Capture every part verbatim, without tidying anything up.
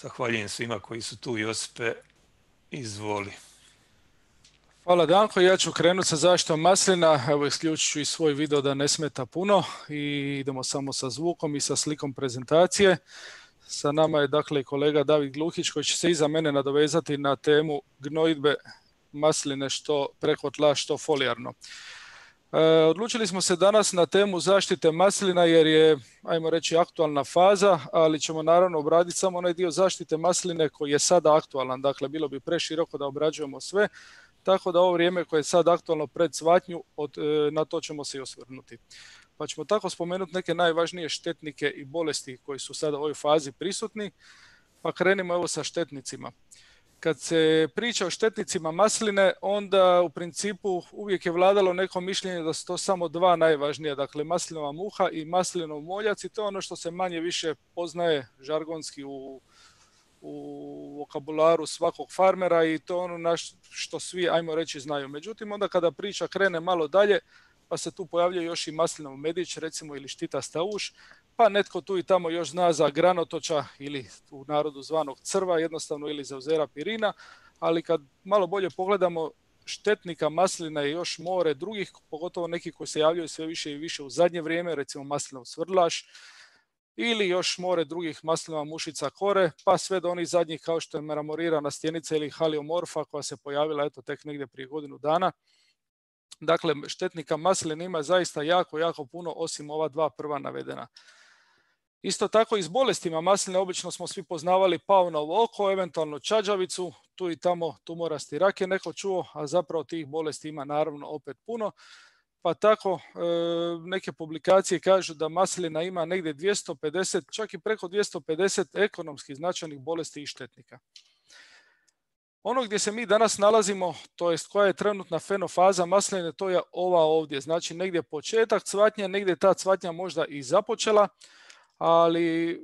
Zahvaljujem svima koji su tu. Josipe, izvoli. Hvala Danko, ja ću krenuti sa zaštitom maslina, evo isključit ću i svoj video da ne smeta puno i idemo samo sa zvukom i sa slikom prezentacije. Sa nama je dakle kolega David Gluhić koji će se iza mene nadovezati na temu gnojidbe masline što preko tla, što folijarno. E, odlučili smo se danas na temu zaštite maslina jer je, ajmo reći, aktualna faza, ali ćemo naravno obraditi samo onaj dio zaštite masline koji je sada aktualan, dakle bilo bi preširoko da obrađujemo sve. Tako da ovo vrijeme koje je sad aktualno pred cvatnju, od, na to ćemo se i osvrnuti. Pa ćemo tako spomenuti neke najvažnije štetnike i bolesti koji su sada u ovoj fazi prisutni. Pa krenimo evo sa štetnicima. Kad se priča o štetnicima masline, onda u principu uvijek je vladalo neko mišljenje da su to samo dva najvažnija, dakle maslinova muha i maslinov moljac, i to je ono što se manje više poznaje žargonski u u vokabularu svakog farmera i to ono na što svi, ajmo reći, znaju. Međutim, onda kada priča krene malo dalje, pa se tu pojavljuje još i maslinov medić, recimo, ili štitasta uš, pa netko tu i tamo još zna za granotoča ili u narodu zvanog crva, jednostavno, ili za uzera pirina, ali kad malo bolje pogledamo, štetnika maslina je još more drugih, pogotovo neki koji se javljaju sve više i više u zadnje vrijeme, recimo maslinov svrdlaš, ili još more drugih maslinova mušica kore, pa sve do onih zadnjih kao što je meramorirana stjenica ili haliomorfa koja se pojavila eto tek negdje prije godinu dana. Dakle, štetnika maslina ima zaista jako, jako puno, osim ova dva prva navedena. Isto tako i s bolestima masline obično smo svi poznavali paunovo oko, eventualno čađavicu, tu i tamo tumorasti rak je neko čuo, a zapravo tih bolesti ima naravno opet puno. Pa tako e, neke publikacije kažu da maslina ima negdje dvjesto pedeset, čak i preko dvjesto pedeset ekonomski značajnih bolesti i štetnika. Ono gdje se mi danas nalazimo, to jest koja je trenutna fenofaza masline, to je ova ovdje. Znači negdje početak cvatnja, negdje ta cvatnja možda i započela, ali e,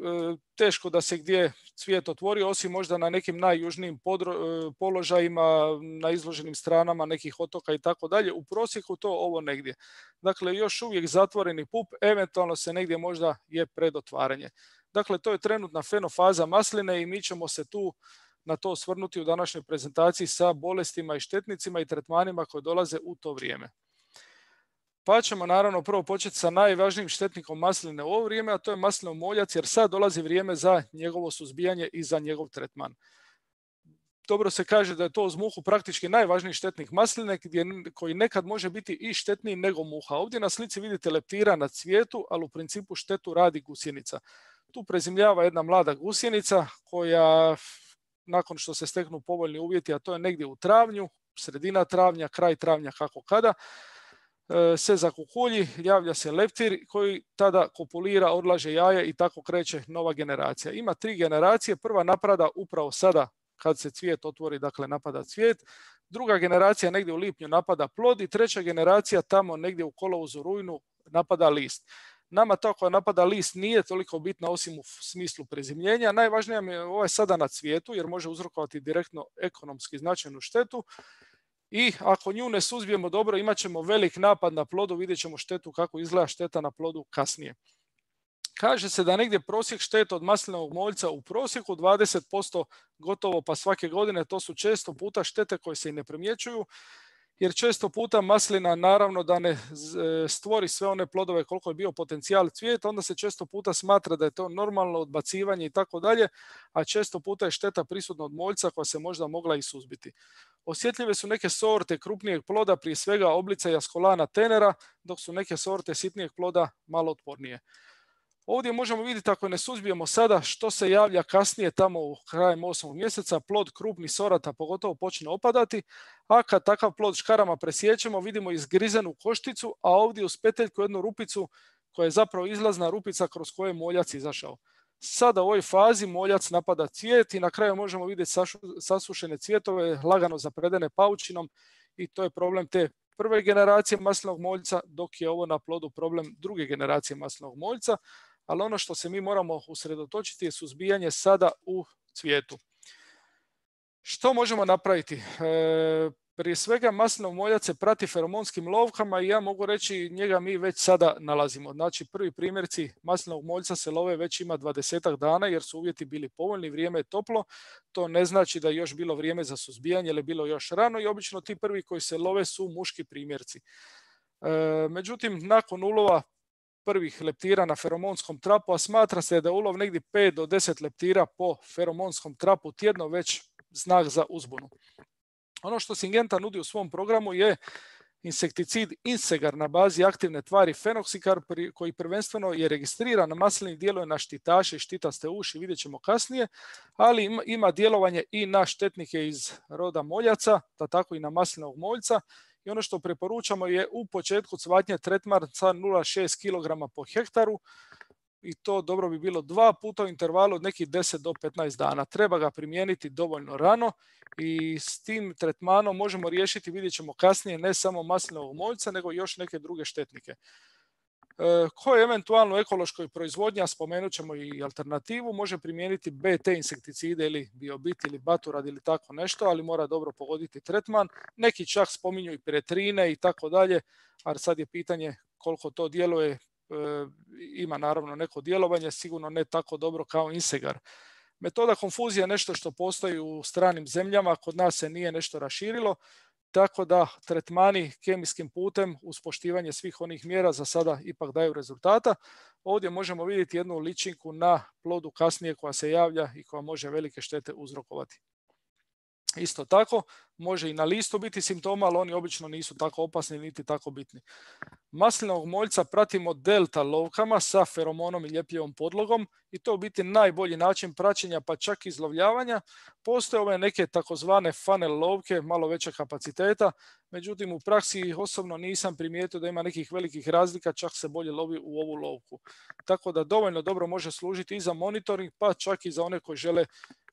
teško da se gdje cvijet otvorio, osim možda na nekim najjužnijim podro, e, položajima, na izloženim stranama nekih otoka i tako dalje. U prosjeku to ovo negdje. Dakle, još uvijek zatvoreni pup, eventualno se negdje možda je predotvaranje. Dakle, to je trenutna fenofaza masline i mi ćemo se tu na to osvrnuti u današnjoj prezentaciji sa bolestima i štetnicima i tretmanima koji dolaze u to vrijeme. Pa ćemo naravno prvo početi sa najvažnijim štetnikom masline u ovo vrijeme, a to je maslinov moljac, jer sad dolazi vrijeme za njegovo suzbijanje i za njegov tretman. Dobro se kaže da je to uz muhu praktički najvažniji štetnik masline, gdje, koji nekad može biti i štetniji nego muha. Ovdje na slici vidite leptira na cvijetu, ali u principu štetu radi gusjenica. Tu prezimljava jedna mlada gusjenica koja, nakon što se steknu povoljni uvjeti, a to je negdje u travnju, sredina travnja, kraj travnja, kako kada, se zakukulji, javlja se leptir koji tada kopulira, odlaže jaje i tako kreće nova generacija. Ima tri generacije, prva napada upravo sada kad se cvijet otvori, dakle napada cvijet, druga generacija negdje u lipnju napada plod i treća generacija tamo negdje u kolovozu, rujnu napada list. Nama to koja napada list nije toliko bitna osim u smislu prezimljenja. Najvažnija mi je ovaj sada na cvijetu jer može uzrokovati direktno ekonomski značajnu štetu. I ako nju ne suzbijemo dobro, imat ćemo velik napad na plodu, vidjet ćemo štetu kako izgleda šteta na plodu kasnije. Kaže se da negdje prosjek šteta od maslinovog moljca u prosjeku dvadeset posto gotovo pa svake godine, to su često puta štete koje se i ne primjećuju, jer često puta maslina naravno da ne stvori sve one plodove koliko je bio potencijal cvijeta, onda se često puta smatra da je to normalno odbacivanje i tako dalje, a često puta je šteta prisutna od moljca koja se možda mogla i suzbiti. Osjetljive su neke sorte krupnijeg ploda, prije svega oblica i Ascolana tenera, dok su neke sorte sitnijeg ploda malo otpornije. Ovdje možemo vidjeti, ako ne suzbijemo sada, što se javlja kasnije tamo u krajem osmog mjeseca, plod krupnih sorata pogotovo počne opadati, a kad takav plod škarama presjećemo, vidimo izgrizenu košticu, a ovdje uz peteljku jednu rupicu koja je zapravo izlazna rupica kroz koju je moljac izašao. Sada u ovoj fazi moljac napada cvijet i na kraju možemo vidjeti sasušene cvjetove, lagano zapredene paučinom, i to je problem te prve generacije maslinovog moljca, dok je ovo na plodu problem druge generacije maslinovog moljca. Ali ono što se mi moramo usredotočiti je suzbijanje sada u cvijetu. Što možemo napraviti? E, Prije svega maslinov moljac se prati feromonskim lovkama i ja mogu reći njega mi već sada nalazimo. Znači prvi primjerci maslinovog moljca se love već ima dvadesetak dana jer su uvjeti bili povoljni, vrijeme je toplo. To ne znači da je još bilo vrijeme za suzbijanje ili je bilo još rano i obično ti prvi koji se love su muški primjerci. E, međutim, nakon ulova prvih leptira na feromonskom trapu, a smatra se da je ulov negdje pet do deset leptira po feromonskom trapu tjedno već znak za uzbunu. Ono što Syngenta nudi u svom programu je insekticid Insegar na bazi aktivne tvari fenoksikarp koji prvenstveno je registriran na maslini, djeluje na štitaše i štitaste uši, vidjet ćemo kasnije, ali ima, ima djelovanje i na štetnike iz roda moljaca, da tako i na maslinovog moljca. I ono što preporučamo je u početku cvatnje tretman sa nula zarez šest kilograma po hektaru i to dobro bi bilo dva puta u intervalu od nekih deset do petnaest dana. Treba ga primijeniti dovoljno rano i s tim tretmanom možemo riješiti, vidjet ćemo kasnije, ne samo maslinovog moljca, nego još neke druge štetnike. E, koje eventualno u ekološkoj proizvodnji, a spomenut ćemo i alternativu, može primijeniti B T insekticide ili Biobit ili Baturad ili tako nešto, ali mora dobro pogoditi tretman. Neki čak spominju i piretrine i tako dalje, ali sad je pitanje koliko to djeluje. E, ima naravno neko djelovanje, sigurno ne tako dobro kao Insegar. Metoda konfuzije je nešto što postoji u stranim zemljama, kod nas se nije nešto raširilo, tako da tretmani kemijskim putem uz poštivanje svih onih mjera za sada ipak daju rezultata. Ovdje možemo vidjeti jednu ličinku na plodu kasnije koja se javlja i koja može velike štete uzrokovati. Isto tako, može i na listu biti simptoma, ali oni obično nisu tako opasni niti tako bitni. Maslinovog moljca pratimo delta lovkama sa feromonom i ljepljivom podlogom i to je u biti najbolji način praćenja pa čak i izlovljavanja. Postoje ove neke takozvane funnel lovke, malo većeg kapaciteta, međutim u praksi osobno nisam primijetio da ima nekih velikih razlika, čak se bolje lovi u ovu lovku. Tako da dovoljno dobro može služiti i za monitoring, pa čak i za one koji žele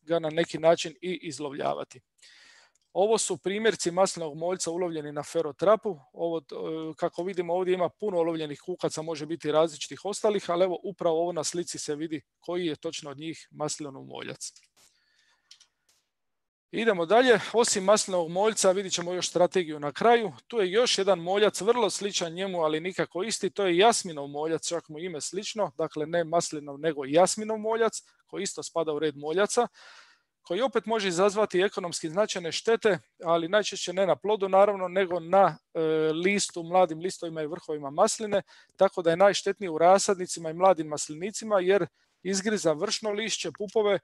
ga na neki način i izlovljavati. Ovo su primjerci maslinovog moljca ulovljeni na ferotrapu. Ovo, kako vidimo ovdje ima puno ulovljenih kukaca, može biti različitih ostalih, ali evo upravo ovo na slici se vidi koji je točno od njih maslinov moljac. Idemo dalje, osim maslinovog moljca vidjet ćemo još strategiju na kraju. Tu je još jedan moljac, vrlo sličan njemu, ali nikako isti, to je jasminov moljac, čak mu ime slično, dakle ne maslinov nego jasminov moljac, koji isto spada u red moljaca, koji opet može izazvati ekonomski značajne štete, ali najčešće ne na plodu naravno, nego na e, listu, mladim listovima i vrhovima masline, tako da je najštetniji u rasadnicima i mladim maslinicima jer izgriza vršno lišće, pupove,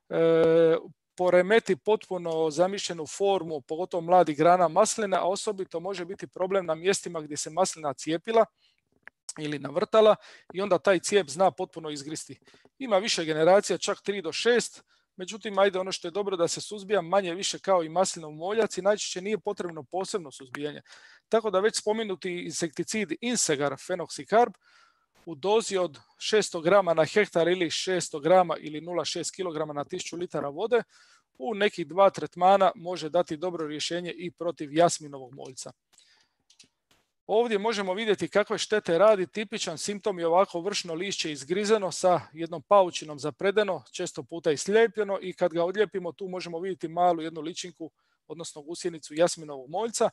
e, poremeti potpuno zamišljenu formu, pogotovo mladih grana masline, a osobito može biti problem na mjestima gdje se maslina cijepila ili navrtala i onda taj cijep zna potpuno izgristi. Ima više generacija, čak tri do šest, međutim, ajde, ono što je dobro da se suzbija manje više kao i maslinov moljac i najčešće nije potrebno posebno suzbijanje. Tako da već spomenuti insekticid Insegar fenoksikarp u dozi od šesto grama na hektar ili šesto grama ili nula zarez šest kilograma na tisuću litara vode u nekih dva tretmana može dati dobro rješenje i protiv jasminovog moljca. Ovdje možemo vidjeti kakve štete radi. Tipičan simptom je ovako vršno lišće izgrizeno sa jednom paučinom zapredeno, često puta i slijepljeno i kad ga odlijepimo tu možemo vidjeti malu jednu ličinku, odnosno gusjenicu jasminovog moljca.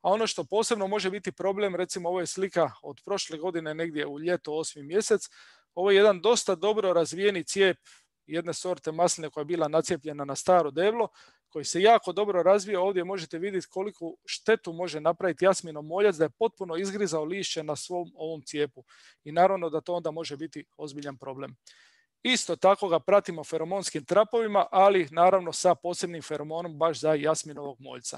A ono što posebno može biti problem, recimo ovo je slika od prošle godine negdje u ljeto osmi mjesec, ovo je jedan dosta dobro razvijeni cijep jedne sorte masline koja je bila nacijepljena na staro deblo, koji se jako dobro razvio. Ovdje možete vidjeti koliko štetu može napraviti jasminov moljac, da je potpuno izgrizao lišće na svom ovom cijepu. I naravno da to onda može biti ozbiljan problem. Isto tako ga pratimo feromonskim trapovima, ali naravno sa posebnim feromonom baš za jasminovog moljca.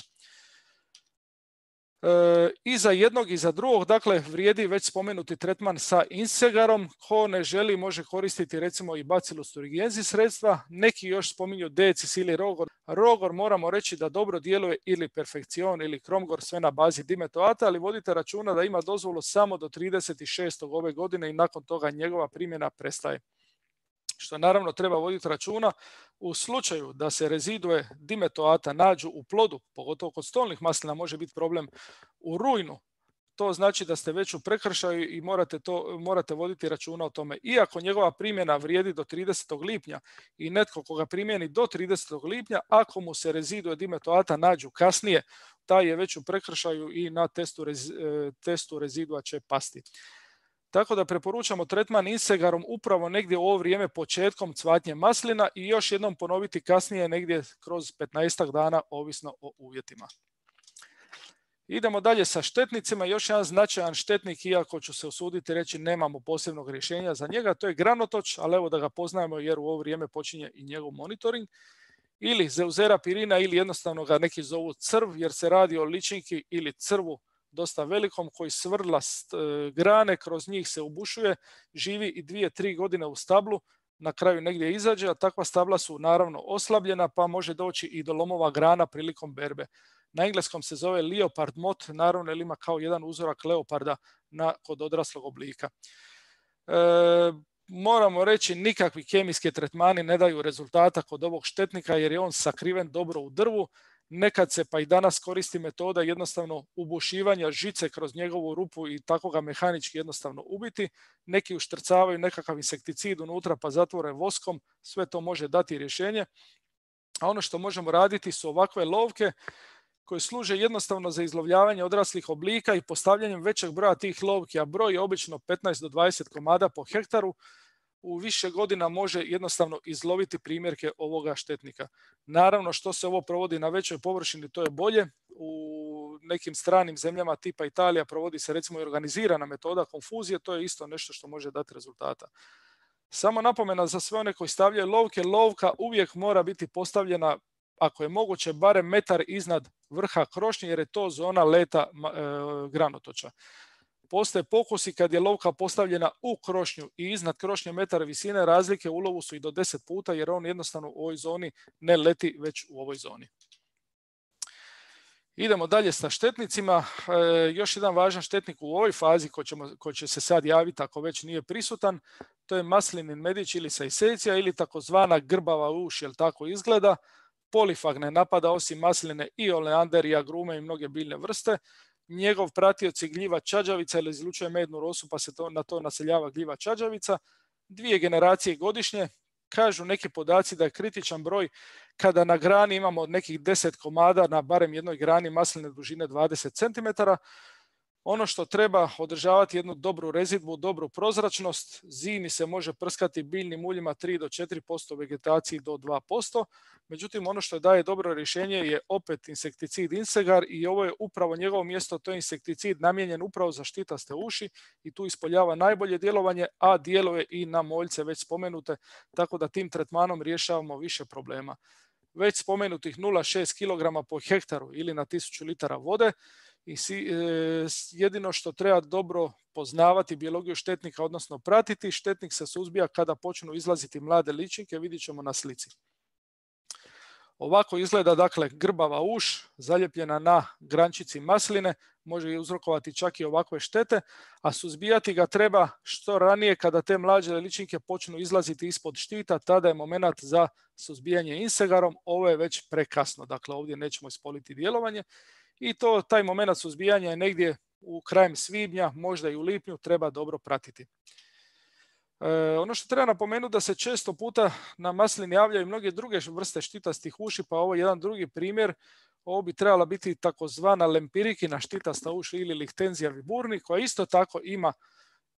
E, I za jednog i za drugog, dakle, vrijedi već spomenuti tretman sa Insegarom. Ko ne želi može koristiti recimo i Bacillus thuringiensis sredstva. Neki još spominju Decis ili Rogor. Rogor moramo reći da dobro djeluje ili Perfekcion ili Kromgor, sve na bazi dimetoata, ali vodite računa da ima dozvolu samo do trideset šestog ove godine i nakon toga njegova primjena prestaje. Što naravno treba voditi računa u slučaju da se rezidue dimetoata nađu u plodu, pogotovo kod stolnih maslina može biti problem u rujnu. to znači da ste već u prekršaju i morate, to, morate voditi računa o tome. Iako njegova primjena vrijedi do tridesetog lipnja i netko koga primjeni do tridesetog lipnja, ako mu se rezidue dimetoata nađu kasnije, taj je već u prekršaju i na testu, rez, testu rezidua će pasti. Tako da preporučamo tretman Insegarom upravo negdje u ovo vrijeme početkom cvatnje maslina i još jednom ponoviti kasnije negdje kroz petnaestak dana, ovisno o uvjetima. Idemo dalje sa štetnicima. Još jedan značajan štetnik, iako ću se usuditi reći nemamo posebnog rješenja za njega, to je granotoč, ali evo da ga poznajemo jer u ovo vrijeme počinje i njegov monitoring. Ili Zeuzera pirina ili jednostavno ga neki zovu crv jer se radi o ličinki ili crvu dosta velikom koji svrla grane, kroz njih se ubušuje, živi i dvije, tri godine u stablu, na kraju negdje izađe, a takva stabla su naravno oslabljena pa može doći i do lomova grana prilikom berbe. Na engleskom se zove leopard moth, naravno jer ima kao jedan uzorak leoparda na, kod odraslog oblika. E, moramo reći nikakvi kemijski tretmani ne daju rezultata kod ovog štetnika jer je on sakriven dobro u drvu. Nekad se pa i danas koristi metoda jednostavno ubušivanja žice kroz njegovu rupu i tako ga mehanički jednostavno ubiti. Neki uštrcavaju nekakav insekticid unutra pa zatvore voskom, sve to može dati rješenje. A ono što možemo raditi su ovakve lovke koje služe jednostavno za izlovljavanje odraslih oblika i postavljanjem većeg broja tih lovki, a broj je obično petnaest do dvadeset komada po hektaru, u više godina može jednostavno izloviti primjerke ovoga štetnika. Naravno, što se ovo provodi na većoj površini, to je bolje. U nekim stranim zemljama tipa Italija provodi se recimo i organizirana metoda konfuzije, to je isto nešto što može dati rezultata. Samo napomena za sve one koji stavljaju lovke, lovka uvijek mora biti postavljena, ako je moguće, barem metar iznad vrha krošnje, jer je to zona leta e, granotoča. Postoje pokusi kad je lovka postavljena u krošnju i iznad krošnje metar visine, razlike u ulovu su i do deset puta jer on jednostavno u ovoj zoni ne leti već u ovoj zoni. Idemo dalje sa štetnicima. E, još jedan važan štetnik u ovoj fazi koji, ćemo, koji će se sad javiti ako već nije prisutan, to je maslinin medić ili sajsecija ili takozvana grbava uš, jel tako izgleda. Polifag ne napada osim masline i oleander i agrume i mnoge biljne vrste. Njegov pratioc je gljiva čađavica ili izlučuje mednu rosu pa se to, na to naseljava gljiva čađavica. Dvije generacije godišnje. Kažu neki podaci da je kritičan broj kada na grani imamo nekih deset komada na barem jednoj grani masline dužine dvadeset centimetara. Ono što treba održavati jednu dobru rezidbu, dobru prozračnost. Zimi se može prskati biljnim uljima tri do četiri posto, vegetaciji do dva posto. Međutim, ono što daje dobro rješenje je opet insekticid Insegar i ovo je upravo njegovo mjesto, to je insekticid namijenjen upravo za štitaste uši i tu ispoljava najbolje djelovanje, a djeluje i na moljce već spomenute, tako da tim tretmanom rješavamo više problema. Već spomenutih nula zarez šest kilograma po hektaru ili na tisuću litara vode. I si, e, jedino što treba dobro poznavati biologiju štetnika, odnosno pratiti, štetnik se suzbija kada počnu izlaziti mlade ličinke, vidjet ćemo na slici. Ovako izgleda dakle grbava uš, zaljepljena na grančici masline, može uzrokovati čak i ovakve štete, a suzbijati ga treba što ranije kada te mlađe ličinke počnu izlaziti ispod štita, tada je moment za suzbijanje Insegarom, ovo je već prekasno, dakle ovdje nećemo ispoliti djelovanje. I to, taj moment suzbijanja je negdje u krajem svibnja, možda i u lipnju, treba dobro pratiti. E, ono što treba napomenuti da se često puta na maslini javljaju mnoge druge vrste štitastih uši, pa ovo je jedan drugi primjer. Ovo bi trebala biti takozvana lempirikina štitasta uši ili Lichtenzia viburni, koja isto tako ima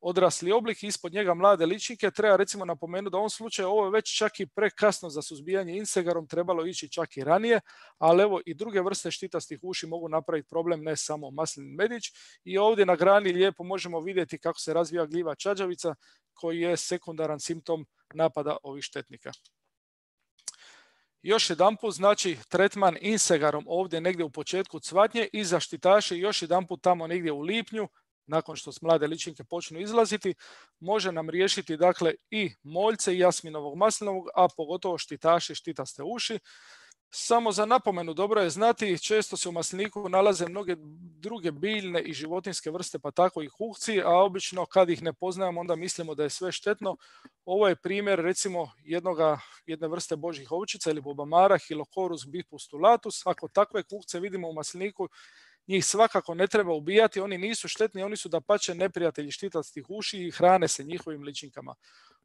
odrasli oblik, ispod njega mlade ličinke. Treba recimo napomenuti da u ovom slučaju ovo je već čak i prekasno za suzbijanje Insegarom, trebalo ići čak i ranije, ali evo i druge vrste štitastih uši mogu napraviti problem, ne samo maslin medić. I ovdje na grani lijepo možemo vidjeti kako se razvija gljiva čađavica, koji je sekundaran simptom napada ovih štetnika. Još jedanput, znači tretman Insegarom ovdje negdje u početku cvatnje i zaštitaše još jedanput tamo negdje u lipnju, nakon što mlade ličinke počnu izlaziti, može nam riješiti dakle i moljce i jasminovog maslinovog, a pogotovo štitaše štitaste uši. Samo za napomenu dobro je znati, često se u masliniku nalaze mnoge druge biljne i životinjske vrste, pa tako i hukci, a obično kad ih ne poznajemo onda mislimo da je sve štetno. Ovo je primjer recimo jednoga, jedne vrste božjih ovčica ili bobamara, Hilocorus bipustulatus. Ako takve hukce vidimo u masliniku, njih svakako ne treba ubijati, oni nisu štetni, oni su dapače neprijatelji štitastih uši i hrane se njihovim ličinkama.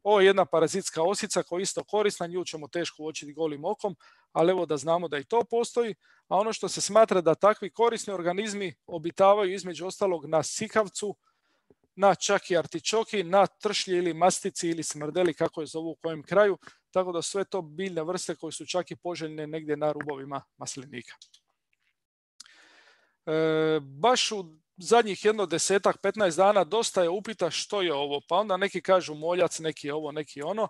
Ovo je jedna parazitska osica koja je isto korisna, nju ćemo teško uočiti golim okom, ali evo da znamo da i to postoji, a ono što se smatra da takvi korisni organizmi obitavaju između ostalog na sikavcu, na čak i artičoki, na tršlji ili mastici ili smrdeli, kako je zovu u kojem kraju, tako da sve to biljne vrste koje su čak i poželjne negdje na rubovima maslinika. E, baš u zadnjih jedno desetak, petnaest dana dosta je upita što je ovo, pa onda neki kažu moljac, neki ovo, neki ono.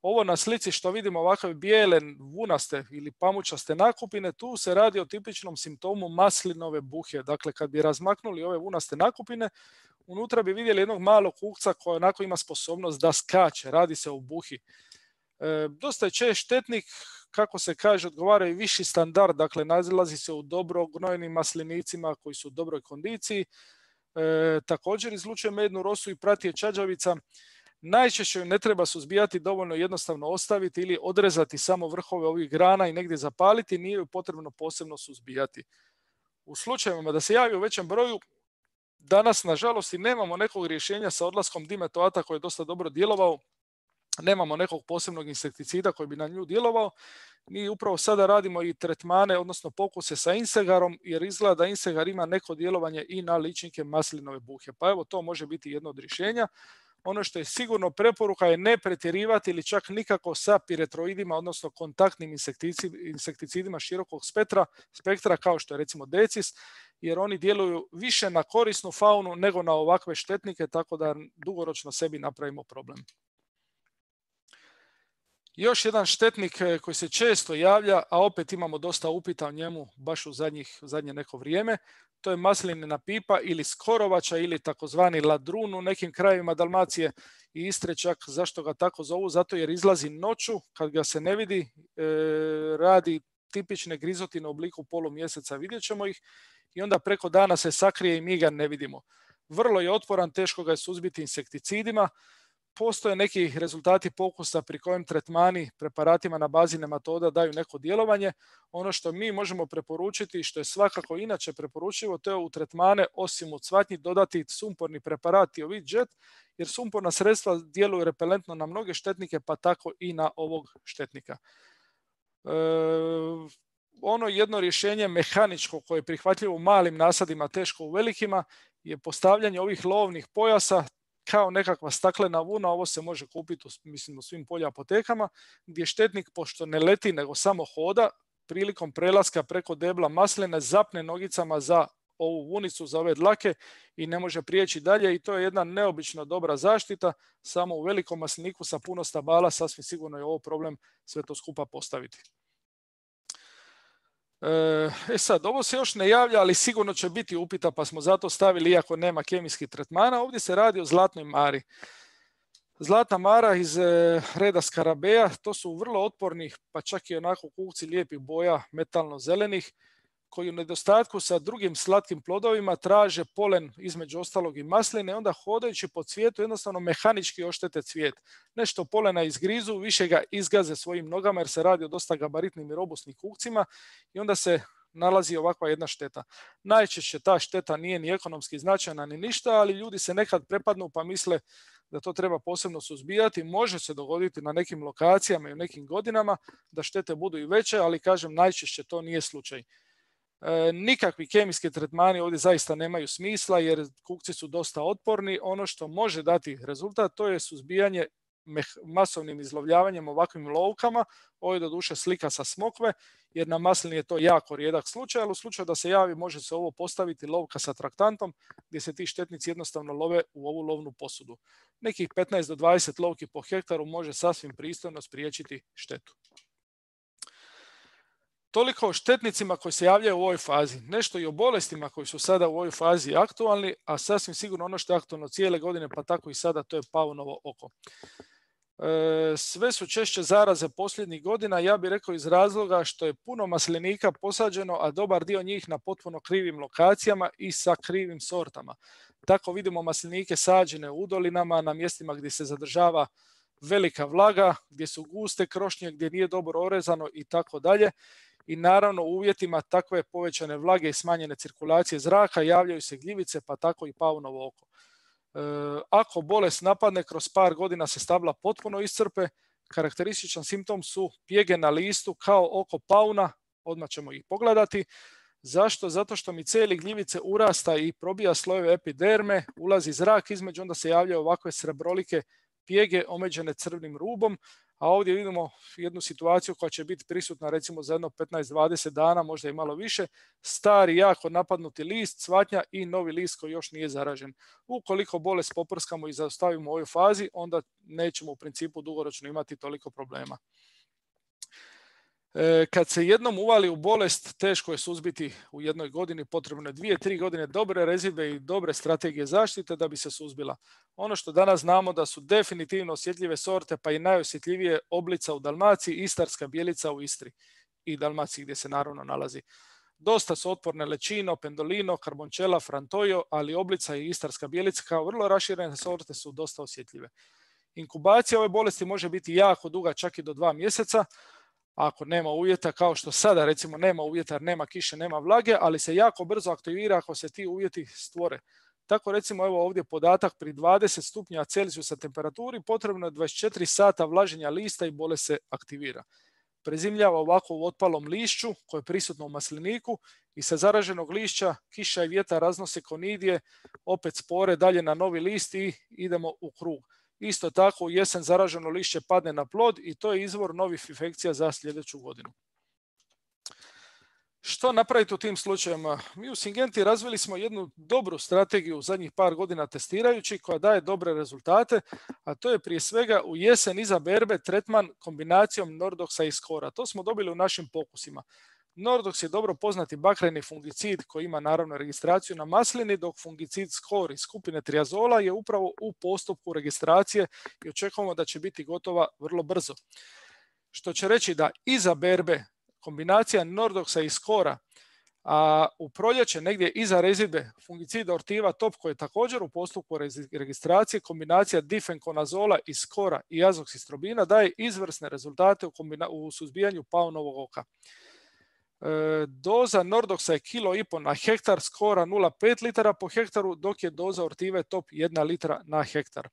Ovo na slici što vidimo ovakve bijele, vunaste ili pamučaste nakupine, tu se radi o tipičnom simptomu maslinove buhe. Dakle, kad bi razmaknuli ove vunaste nakupine, unutra bi vidjeli jednog malog kukca koji onako ima sposobnost da skače, radi se o buhi. E, dosta je čest štetnik, kako se kaže, odgovara i viši standard, dakle nalazi se u dobro gnojenim maslinicima koji su u dobroj kondiciji. E, također izlučuje mednu rosu i prati je čađavica. Najčešće ne treba suzbijati, dovoljno jednostavno ostaviti ili odrezati samo vrhove ovih grana i negdje zapaliti, nije ju potrebno posebno suzbijati. U slučajevima da se javi u većem broju, danas nažalost i nemamo nekog rješenja sa odlaskom dimetoata koji je dosta dobro djelovao, nemamo nekog posebnog insekticida koji bi na nju djelovao. Mi upravo sada radimo i tretmane, odnosno pokuse sa insegarom, jer izgleda da insegar ima neko djelovanje i na ličinke maslinove buhe. Pa evo, to može biti jedno od rješenja. Ono što je sigurno preporuka je ne pretjerivati ili čak nikako sa piretroidima, odnosno kontaktnim insekticidima širokog spektra, spektra kao što je recimo decis, jer oni djeluju više na korisnu faunu nego na ovakve štetnike, tako da dugoročno sebi napravimo problem. Još jedan štetnik koji se često javlja, a opet imamo dosta upita o njemu baš u zadnjih, zadnje neko vrijeme, to je maslinina pipa ili skorovača ili takozvani ladrun u nekim krajevima Dalmacije i Istre čak. Zašto ga tako zovu? Zato jer izlazi noću, kad ga se ne vidi, e, radi tipične grizotine u obliku polumjeseca, vidjet ćemo ih, i onda preko dana se sakrije i mi ga ne vidimo. Vrlo je otporan, teško ga je suzbiti insekticidima. Postoje neki rezultati pokusa pri kojem tretmani preparatima na bazi nematoda daju neko djelovanje. Ono što mi možemo preporučiti i što je svakako inače preporučivo, to je u tretmane osim u cvatnji dodati sumporni preparat Tiovit Jet, jer sumporna sredstva djeluju repelentno na mnoge štetnike, pa tako i na ovog štetnika. E, ono jedno rješenje mehaničko koje je prihvatljivo u malim nasadima, teško u velikima, je postavljanje ovih lovnih pojasa kao nekakva staklena vuna. Ovo se može kupiti u, mislim, u svim polja apotekama, gdje štetnik, pošto ne leti nego samo hoda, prilikom prelaska preko debla masline zapne nogicama za ovu vunicu, za ove dlake i ne može prijeći dalje, i to je jedna neobično dobra zaštita. Samo u velikom masliniku sa puno stabala sasvim sigurno je ovo problem sve to skupa postaviti. E sad, ovo se još ne javlja, ali sigurno će biti upita, pa smo zato stavili, iako nema kemijskih tretmana. Ovdje se radi o zlatnoj mari. Zlatna mara iz reda skarabeja, to su vrlo otporni, pa čak i onako kukci lijepih boja, metalno zelenih, koji u nedostatku sa drugim slatkim plodovima traže polen između ostalog i masline, onda hodajući po cvijetu jednostavno mehanički oštete cvijet. Nešto polena izgrizu, više ga izgaze svojim nogama jer se radi o dosta gabaritnim i robustnim kukcima i onda se nalazi ovakva jedna šteta. Najčešće ta šteta nije ni ekonomski značajna ni ništa, ali ljudi se nekad prepadnu pa misle da to treba posebno suzbijati. Može se dogoditi na nekim lokacijama i u nekim godinama da štete budu i veće, ali kažem najčešće to nije slučaj. E, nikakvi kemijski tretmani ovdje zaista nemaju smisla jer kukci su dosta otporni. Ono što može dati rezultat to je suzbijanje masovnim izlovljavanjem ovakvim lovkama. Ovo je doduše slika sa smokve jer na maslini je to jako rijedak slučaj, ali u slučaju da se javi može se ovo postaviti lovka sa traktantom gdje se ti štetnici jednostavno love u ovu lovnu posudu. Nekih petnaest do dvadeset lovki po hektaru može sasvim pristojno spriječiti štetu. Toliko o štetnicima koji se javljaju u ovoj fazi. Nešto i o bolestima koji su sada u ovoj fazi aktualni, a sasvim sigurno ono što je aktualno cijele godine, pa tako i sada, to je paunovo oko. E, sve su češće zaraze posljednjih godina, ja bih rekao iz razloga što je puno maslinika posađeno, a dobar dio njih na potpuno krivim lokacijama i sa krivim sortama. Tako vidimo maslinike sađene u udolinama, na mjestima gdje se zadržava velika vlaga, gdje su guste krošnje, gdje nije dobro orezano i tako dalje. i naravno u uvjetima takve povećane vlage i smanjene cirkulacije zraka javljaju se gljivice, pa tako i paunovo oko. E, ako bolest napadne, kroz par godina se stabla potpuno iscrpe. Karakterističan simptom su pjege na listu kao oko pauna, odmah ćemo ih pogledati. Zašto? Zato što miceli gljivice urasta i probija slojeve epiderme, ulazi zrak između, onda se javljaju ovakve srebrolike pjege omeđene crvnim rubom, a ovdje vidimo jednu situaciju koja će biti prisutna recimo za jedno petnaest do dvadeset dana, možda i malo više, stari, jako napadnuti list, cvatnja i novi list koji još nije zaražen. Ukoliko bolest poprskamo i zaustavimo u ovoj fazi, onda nećemo u principu dugoročno imati toliko problema. Kad se jednom uvali u bolest, teško je suzbiti u jednoj godini, potrebno je dvije, tri godine dobre rezidbe i dobre strategije zaštite da bi se suzbila. Ono što danas znamo da su definitivno osjetljive sorte, pa i najosjetljivije Oblica u Dalmaciji, Istarska bijelica u Istri i Dalmaciji gdje se naravno nalazi. Dosta su otporne Lečino, Pendolino, Carbončela, Frantoio, ali Oblica i Istarska bijelica kao vrlo raširene sorte su dosta osjetljive. Inkubacija ove bolesti može biti jako duga, čak i do dva mjeseca, ako nema uvjeta, kao što sada recimo nema uvjeta jer nema kiše, nema vlage, ali se jako brzo aktivira ako se ti uvjeti stvore. Tako recimo evo ovdje podatak, pri dvadeset stupnja Celzijusa temperaturi potrebno je dvadeset četiri sata vlaženja lista i bolest se aktivira. Prezimljava ovako u otpalom lišću koje je prisutno u masliniku i sa zaraženog lišća kiša i vjetar raznose konidije, opet spore dalje na novi list i idemo u krug. Isto tako u jesen zaraženo lišće padne na plod i to je izvor novih infekcija za sljedeću godinu. Što napraviti u tim slučajevima? Mi u Syngenti razvili smo jednu dobru strategiju u zadnjih par godina testirajući koja daje dobre rezultate, a to je prije svega u jesen iza berbe tretman kombinacijom Nordoxa i Skora. To smo dobili u našim pokusima. Nordox je dobro poznati bakreni fungicid koji ima naravno registraciju na maslini, dok fungicid Skor iz skupine triazola je upravo u postupku registracije i očekujemo da će biti gotova vrlo brzo. Što će reći da iza berbe kombinacija Nordoxa i Skora, a u proljeće negdje iza rezidbe fungicida Ortiva Top koji je također u postupku registracije, kombinacija difenkonazola i Skora i azoksistrobina daje izvrsne rezultate u, kombina- u suzbijanju paunovog oka. E, doza Nordoxa je kilo i pol na hektar, Skora nula zarez pet litara po hektaru, dok je doza Ortive Top jedna litra na hektar.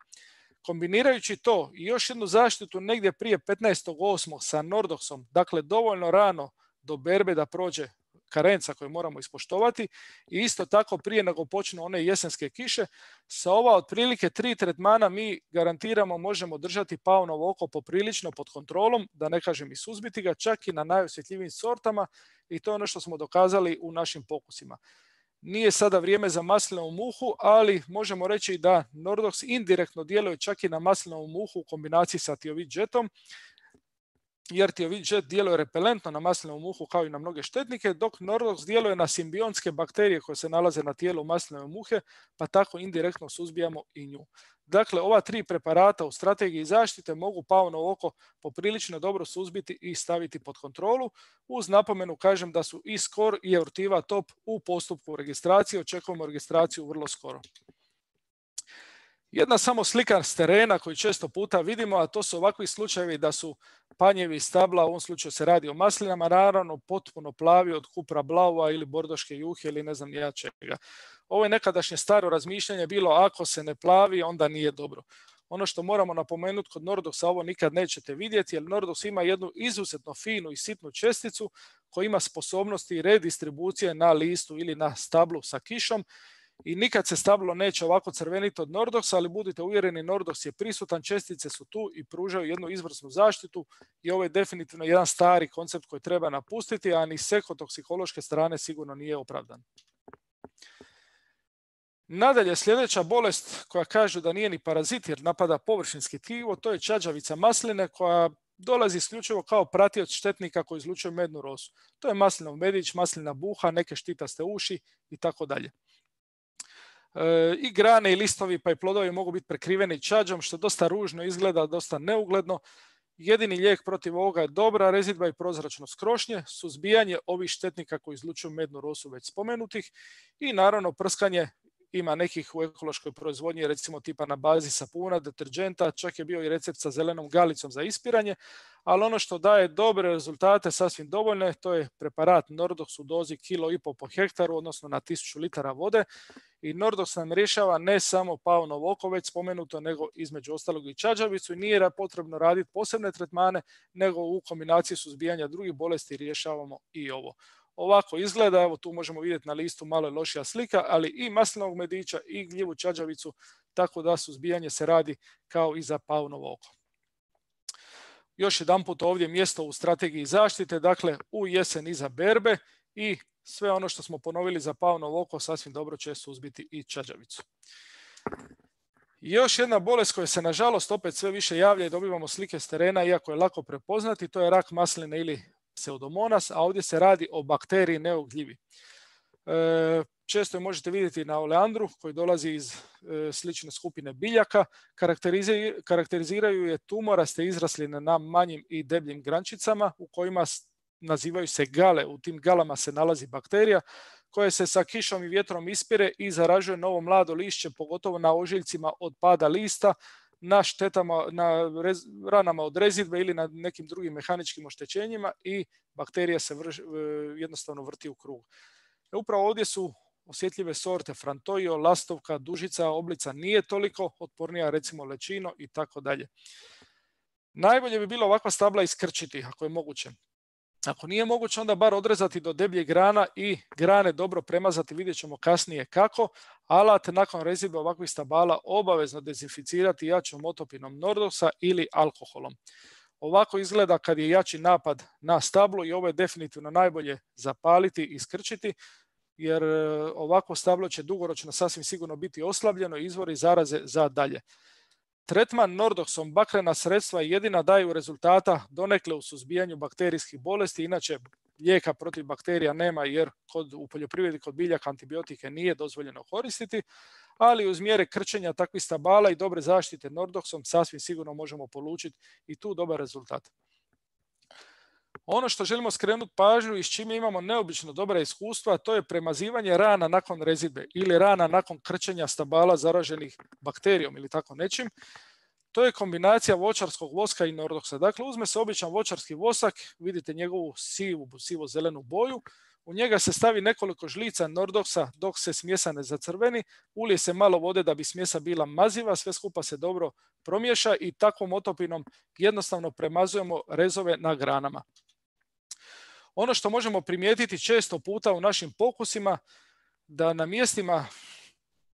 Kombinirajući to i još jednu zaštitu negdje prije petnaestog osmog sa Nordoxom, dakle dovoljno rano do berbe da prođe karenca koju moramo ispoštovati i isto tako prije nego počnu one jesenske kiše, sa ova otprilike tri tretmana mi garantiramo možemo držati paunovo oko poprilično pod kontrolom, da ne kažem i suzbiti ga, čak i na najosjetljivijim sortama i to je ono što smo dokazali u našim pokusima. Nije sada vrijeme za maslinovu muhu, ali možemo reći da Nordox indirektno djeluje čak i na maslinovu muhu u kombinaciji sa Thiovit Jetom, jer Thiovit Jet djeluje repelentno na maslinovu muhu kao i na mnoge štetnike, dok Nordox djeluje na simbionske bakterije koje se nalaze na tijelu maslinove muhe, pa tako indirektno suzbijamo i nju. Dakle, ova tri preparata u strategiji zaštite mogu paunovo oko poprilično dobro suzbiti i staviti pod kontrolu. Uz napomenu kažem da su i Skor i Ortiva Top u postupku registracije, očekujemo registraciju vrlo skoro. Jedna samo slika s terena koju često puta vidimo, a to su ovakvi slučajevi da su panjevi stabla, u ovom slučaju se radi o maslinama, naravno potpuno plavi od kupra blaua ili bordoške juhe ili ne znam ni ja čega. Ovo je nekadašnje staro razmišljanje bilo ako se ne plavi onda nije dobro. Ono što moramo napomenuti kod Nordoxa, ovo nikad nećete vidjeti, jer Nordox ima jednu izuzetno finu i sitnu česticu koja ima sposobnosti redistribucije na listu ili na stablu sa kišom. I nikad se stablo neće ovako crveniti od Nordoxa, ali budite uvjereni, Nordox je prisutan, čestice su tu i pružaju jednu izvrsnu zaštitu i ovo je definitivno jedan stari koncept koji treba napustiti, a ni s ekotoksikološke strane sigurno nije opravdan. Nadalje, sljedeća bolest koja kažu da nije ni parazit jer napada površinski tkivo, to je čađavica masline koja dolazi isključivo kao pratioc štetnika koji izlučuje mednu rosu. To je maslinov medić, maslina buha, neke štitaste uši i tako dalje. I grane i listovi pa i plodovi mogu biti prekriveni čađom, što dosta ružno izgleda, dosta neugledno. Jedini lijek protiv ovoga je dobra rezidba i prozračnost krošnje, suzbijanje ovih štetnika koji izlučuju mednu rosu već spomenutih i naravno prskanje ima nekih u ekološkoj proizvodnji, recimo tipa na bazi sapuna, deterđenta, čak je bio i recept sa zelenom galicom za ispiranje, ali ono što daje dobre rezultate, sasvim dovoljne, to je preparat Nordox u dozi kilo i pol po hektaru, odnosno na tisuću litara vode. I Nordox nam rješava ne samo paunovo oko već spomenuto, nego između ostalog i čađavicu, i nije potrebno raditi posebne tretmane, nego u kombinaciji suzbijanja drugih bolesti rješavamo i ovo. Ovako izgleda, evo tu možemo vidjeti na listu malo je lošija slika, ali i maslinovog medića i gljivu čađavicu, tako da suzbijanje se radi kao i za paunovo oko. Još jedan put ovdje mjesto u strategiji zaštite, dakle u jesen iza berbe, i sve ono što smo ponovili za paunovo oko sasvim dobro će suzbiti i čađavicu. I još jedna bolest koja se nažalost opet sve više javlja i dobivamo slike s terena, iako je lako prepoznati, to je rak masline ili Pseudomonas, a ovdje se radi o bakteriji neogljivi. E, često je možete vidjeti na oleandru koji dolazi iz e, slične skupine biljaka. Karakterizi, karakteriziraju je tumoraste izrasline na manjim i debljim grančicama u kojima nazivaju se gale. U tim galama se nalazi bakterija koja se sa kišom i vjetrom ispire i zaražuje novo mlado lišće, pogotovo na ožiljcima od pada lista, na štetama, na rez, ranama od rezidbe ili na nekim drugim mehaničkim oštećenjima, i bakterija se vrš, jednostavno vrti u krug. E, upravo ovdje su osjetljive sorte Frantoio, lastovka, dužica, oblica nije toliko otpornija, recimo lečino i tako dalje. Najbolje bi bilo ovakva stabla iskrčiti ako je moguće. Ako nije moguće, onda bar odrezati do debljih grana i grane dobro premazati, vidjet ćemo kasnije kako. Alat nakon rezidbe ovakvih stabala obavezno dezinficirati jačom otopinom Nordoxa ili alkoholom. Ovako izgleda kad je jači napad na stablo, i ovo je definitivno najbolje zapaliti i iskrčiti, jer ovako stablo će dugoročno sasvim sigurno biti oslabljeno i izvori zaraze za dalje. Tretman Nordoxom bakrena sredstva jedina daju rezultata donekle u suzbijanju bakterijskih bolesti, inače lijeka protiv bakterija nema, jer kod, u poljoprivredi kod biljaka antibiotike nije dozvoljeno koristiti, ali uz mjere krčenja takvih stabala i dobre zaštite Nordoxom sasvim sigurno možemo polučiti i tu dobar rezultat. Ono što želimo skrenuti pažnju i s čime imamo neobično dobra iskustva, to je premazivanje rana nakon rezidbe ili rana nakon krčenja stabala zaraženih bakterijom ili tako nečim. To je kombinacija voćarskog voska i Nordoxa. Dakle, uzme se običan voćarski vosak, vidite njegovu sivu, sivo-zelenu boju, u njega se stavi nekoliko žlica Nordoxa dok se smjesa ne zacrveni, ulije se malo vode da bi smjesa bila maziva, sve skupa se dobro promiješa i takvom otopinom jednostavno premazujemo rezove na granama. Ono što možemo primijetiti često puta u našim pokusima, da na mjestima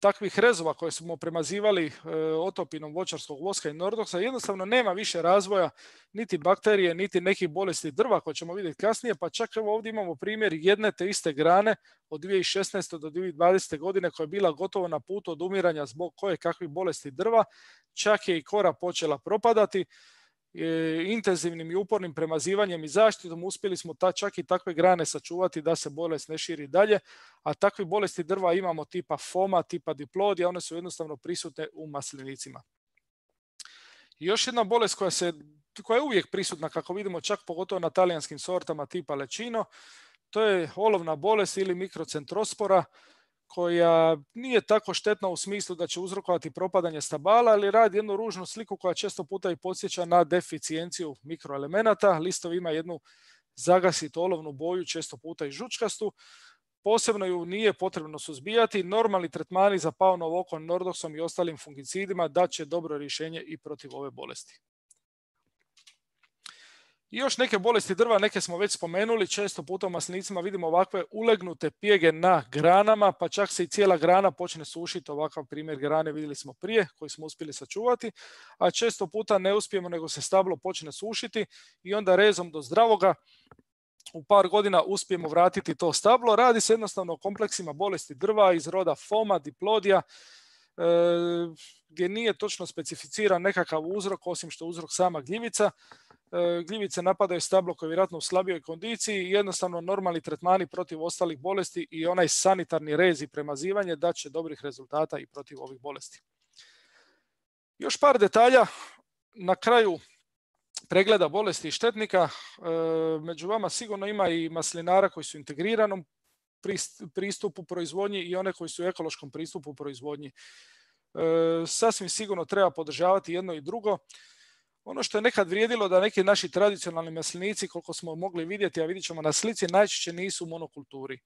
takvih rezova koje smo premazivali e, otopinom voćarskog voska i Nordoxa jednostavno nema više razvoja niti bakterije, niti nekih bolesti drva koje ćemo vidjeti kasnije, pa čak evo ovdje imamo primjer jedne te iste grane od dvije tisuće šesnaeste do dvije tisuće dvadesete godine koja je bila gotovo na putu od umiranja zbog koje kakvih bolesti drva, čak je i kora počela propadati. E, intenzivnim i upornim premazivanjem i zaštitom uspjeli smo ta, čak i takve grane sačuvati da se bolest ne širi dalje, a takve bolesti drva imamo tipa foma, tipa diplodija, one su jednostavno prisutne u maslinicima. I još jedna bolest koja, se, koja je uvijek prisutna, kako vidimo čak pogotovo na talijanskim sortama tipa lečino, to je olovna bolest ili mikrocentrospora, koja nije tako štetna u smislu da će uzrokovati propadanje stabala, ali radi jednu ružnu sliku koja često puta i podsjeća na deficijenciju mikroelemenata. Listovi ima jednu zagasitu olovnu boju, često puta i žučkastu. Posebno ju nije potrebno suzbijati. Normalni tretmani za paunovo oko Nordoxom i ostalim fungicidima daće dobro rješenje i protiv ove bolesti. I još neke bolesti drva, neke smo već spomenuli, često puta u maslinicima vidimo ovakve ulegnute pjege na granama, pa čak se i cijela grana počne sušiti, ovakav primjer grane vidjeli smo prije, koji smo uspjeli sačuvati, a često puta ne uspijemo nego se stablo počne sušiti i onda rezom do zdravoga u par godina uspijemo vratiti to stablo. Radi se jednostavno o kompleksima bolesti drva iz roda foma, diplodija, e, gdje nije točno specificiran nekakav uzrok, osim što uzrok sama gljivica. Gljivice napadaju stablo koje je vjerojatno u slabijoj kondiciji i jednostavno normalni tretmani protiv ostalih bolesti i onaj sanitarni rez i premazivanje daće dobrih rezultata i protiv ovih bolesti. Još par detalja na kraju pregleda bolesti i štetnika. Među vama sigurno ima i maslinara koji su u integriranom pristupu proizvodnji i one koji su u ekološkom pristupu proizvodnji. E, sasvim sigurno treba podržavati jedno i drugo. Ono što je nekad vrijedilo da neki naši tradicionalni maslinici, koliko smo mogli vidjeti, a vidjet ćemo na slici, najčešće nisu u monokulturi.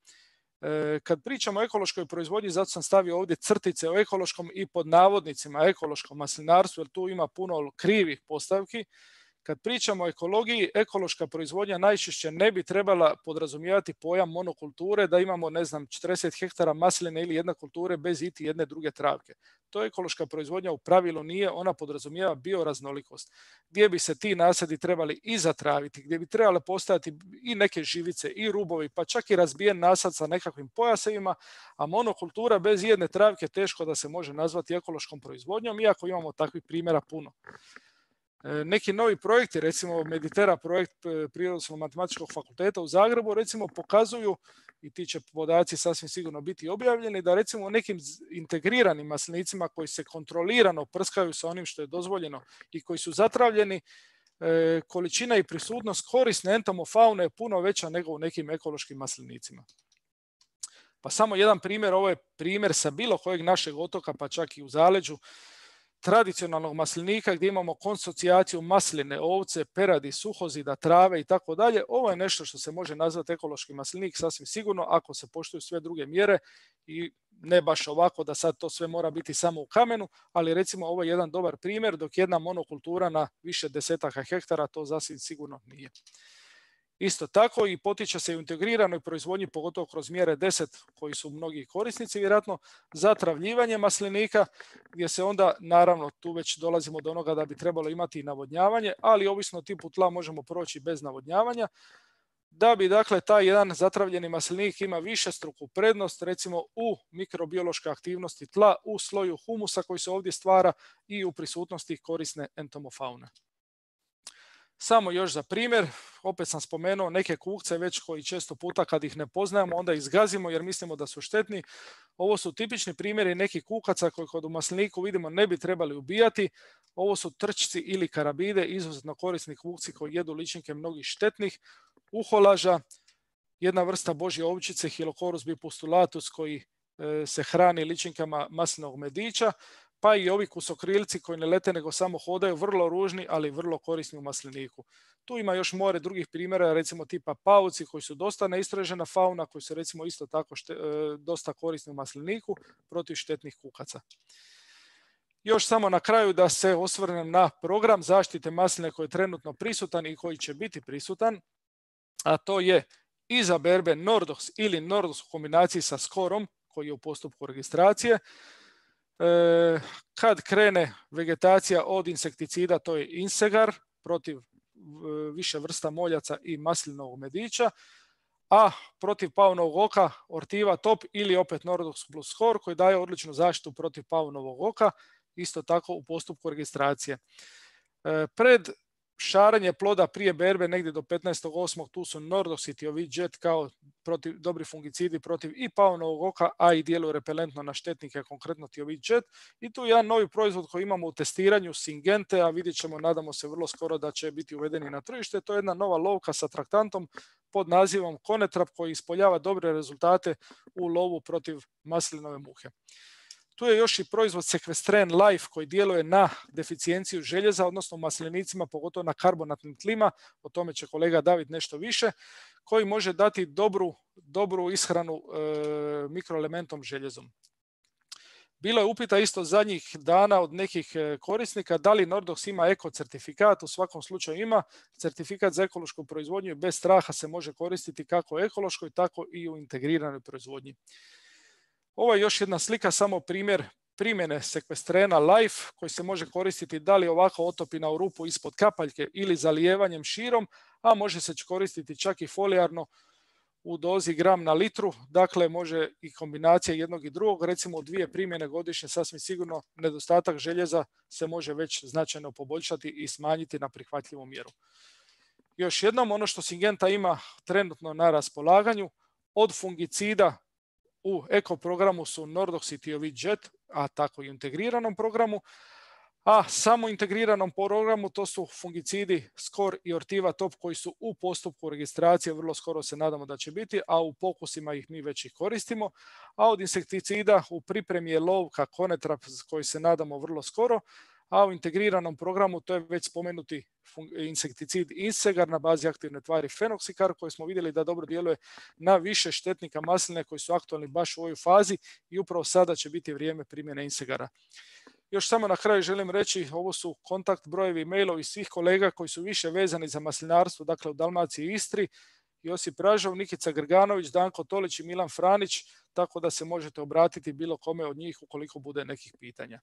E, kad pričamo o ekološkoj proizvodnji, zato sam stavio ovdje crtice o ekološkom i pod navodnicima ekološkom maslinarstvu, jer tu ima puno krivih postavki. Kad pričamo o ekologiji, ekološka proizvodnja najčešće ne bi trebala podrazumijevati pojam monokulture, da imamo, ne znam, četrdeset hektara masline ili jedne kulture bez iti jedne druge travke. To ekološka proizvodnja u pravilu nije, ona podrazumijeva bioraznolikost, gdje bi se ti nasadi trebali i zatraviti, gdje bi trebale postojati i neke živice i rubovi, pa čak i razbijen nasad sa nekakvim pojasevima, a monokultura bez jedne travke teško da se može nazvati ekološkom proizvodnjom, iako imamo takvih primjera puno. Neki novi projekti, recimo Meditera projekt Prirodoslovno-matematičkog fakulteta u Zagrebu, recimo pokazuju, i ti će podaci sasvim sigurno biti objavljeni, da recimo u nekim integriranim maslinicima koji se kontrolirano prskaju sa onim što je dozvoljeno i koji su zatravljeni, količina i prisutnost korisne entomofaune je puno veća nego u nekim ekološkim maslinicima. Pa samo jedan primjer, ovo je primjer sa bilo kojeg našeg otoka, pa čak i u zaleđu, tradicionalnog maslinika gdje imamo konsocijaciju masline, ovce, peradi, suhozida, trave i tako dalje. Ovo je nešto što se može nazvati ekološki maslinik sasvim sigurno ako se poštuju sve druge mjere i ne baš ovako da sad to sve mora biti samo u kamenu, ali recimo ovo je jedan dobar primjer, dok jedna monokultura na više desetaka hektara to sasvim sigurno nije. Isto tako i potiče se u integriranoj proizvodnji, pogotovo kroz mjere deset koji su mnogi korisnici vjerojatno, zatravljivanje maslinika, gdje se onda, naravno, tu već dolazimo do onoga da bi trebalo imati i navodnjavanje, ali ovisno o tipu tla možemo proći bez navodnjavanja, da bi dakle taj jedan zatravljeni maslinik ima višestruku prednost recimo u mikrobiološkoj aktivnosti tla, u sloju humusa koji se ovdje stvara i u prisutnosti korisne entomofaune. Samo još za primjer, opet sam spomenuo neke kukce već koji često puta kad ih ne poznajemo onda ih zgazimo jer mislimo da su štetni. Ovo su tipični primjeri nekih kukaca koji kod u masliniku vidimo ne bi trebali ubijati. Ovo su trčci ili karabide, izuzetno korisni kukci koji jedu ličinke mnogih štetnih. Uholaža, jedna vrsta božje ovčice, Hilochorus bipustulatus koji e, se hrani ličinkama maslinovog medića. Pa i ovi kusokrilci koji ne lete nego samo hodaju, vrlo ružni, ali vrlo korisni u masliniku. Tu ima još more drugih primjera, recimo tipa pauci koji su dosta neistražena fauna, koji su recimo isto tako šte, dosta korisni u masliniku protiv štetnih kukaca. Još samo na kraju da se osvrnem na program zaštite masline koji je trenutno prisutan i koji će biti prisutan, a to je izaberbe Nordox ili Nordox u kombinaciji sa Skorom koji je u postupku registracije. Kad krene vegetacija od insekticida, to je Insegar protiv više vrsta moljaca i maslinovog medića, a protiv paunovog oka Ortiva Top ili opet Nordox plus Skor koji daje odličnu zaštitu protiv paunovog oka, isto tako u postupku registracije. Pred šaranje ploda prije berbe negdje do petnaestog osmog tu su Nordox i Thiovit Jet kao protiv, dobri fungicidi protiv i paunovog oka, a i djeluju repelentno na štetnike, konkretno Thiovit Jet. I tu je jedan novi proizvod koji imamo u testiranju, Syngente, a vidjet ćemo, nadamo se vrlo skoro da će biti uvedeni na tržište. To je jedna nova lovka sa traktantom pod nazivom Konetrap koji ispoljava dobre rezultate u lovu protiv maslinove muhe. Tu je još i proizvod Sequestren Life koji djeluje na deficijenciju željeza, odnosno u maslinicima, pogotovo na karbonatnim tlima, o tome će kolega David nešto više, koji može dati dobru, dobru ishranu e, mikroelementom željezom. Bilo je upita isto zadnjih dana od nekih korisnika da li Nordox ima eko certifikat, u svakom slučaju ima. Certifikat za ekološku proizvodnju i bez straha se može koristiti kako u ekološkoj, tako i u integriranoj proizvodnji. Ovo je još jedna slika, samo primjer primjene Sequestrena Life koji se može koristiti da li ovako otopina u rupu ispod kapaljke ili zalijevanjem širom, a može se koristiti čak i folijarno u dozi gram na litru, dakle može i kombinacija jednog i drugog, recimo u dvije primjene godišnje sasvim sigurno nedostatak željeza se može već značajno poboljšati i smanjiti na prihvatljivu mjeru. Još jednom, ono što Syngenta ima trenutno na raspolaganju, od fungicida u eko programu su Nordox i Thiovit Jet, a tako i u integriranom programu, A samo integriranom programu to su fungicidi Skor i Ortiva Top koji su u postupku registracije, vrlo skoro se nadamo da će biti, a u pokusima ih mi već ih koristimo. A od insekticida u pripremi je Lovka Konetrap koji se nadamo vrlo skoro, a u integriranom programu to je već spomenuti insekticid Insegar na bazi aktivne tvari Fenoxikar koji smo vidjeli da dobro djeluje na više štetnika masline koji su aktualni baš u ovoj fazi i upravo sada će biti vrijeme primjene Insegara. Još samo na kraju želim reći, ovo su kontakt brojevi i mailovi svih kolega koji su više vezani za maslinarstvo, dakle u Dalmaciji i Istri, Josip Ražov, Nikica Grganović, Danko Tolić i Milan Franić, tako da se možete obratiti bilo kome od njih ukoliko bude nekih pitanja.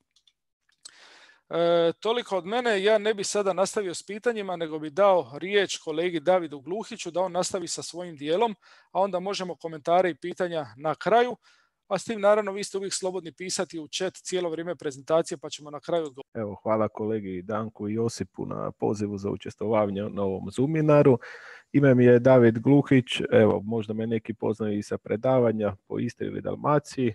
E, toliko od mene, ja ne bi sada nastavio s pitanjima, nego bi dao riječ kolegi Davidu Gluhiću da on nastavi sa svojim dijelom, a onda možemo komentare i pitanja na kraju. A s tim naravno vi ste uvijek slobodni pisati u chat cijelo vrijeme prezentacije pa ćemo na kraju odgovoriti. Evo, hvala kolegi Danku i Josipu na pozivu za učestvovanje na ovom Zoominaru. Ime mi je David Gluhić, evo možda me neki poznaju i sa predavanja po Istri ili Dalmaciji.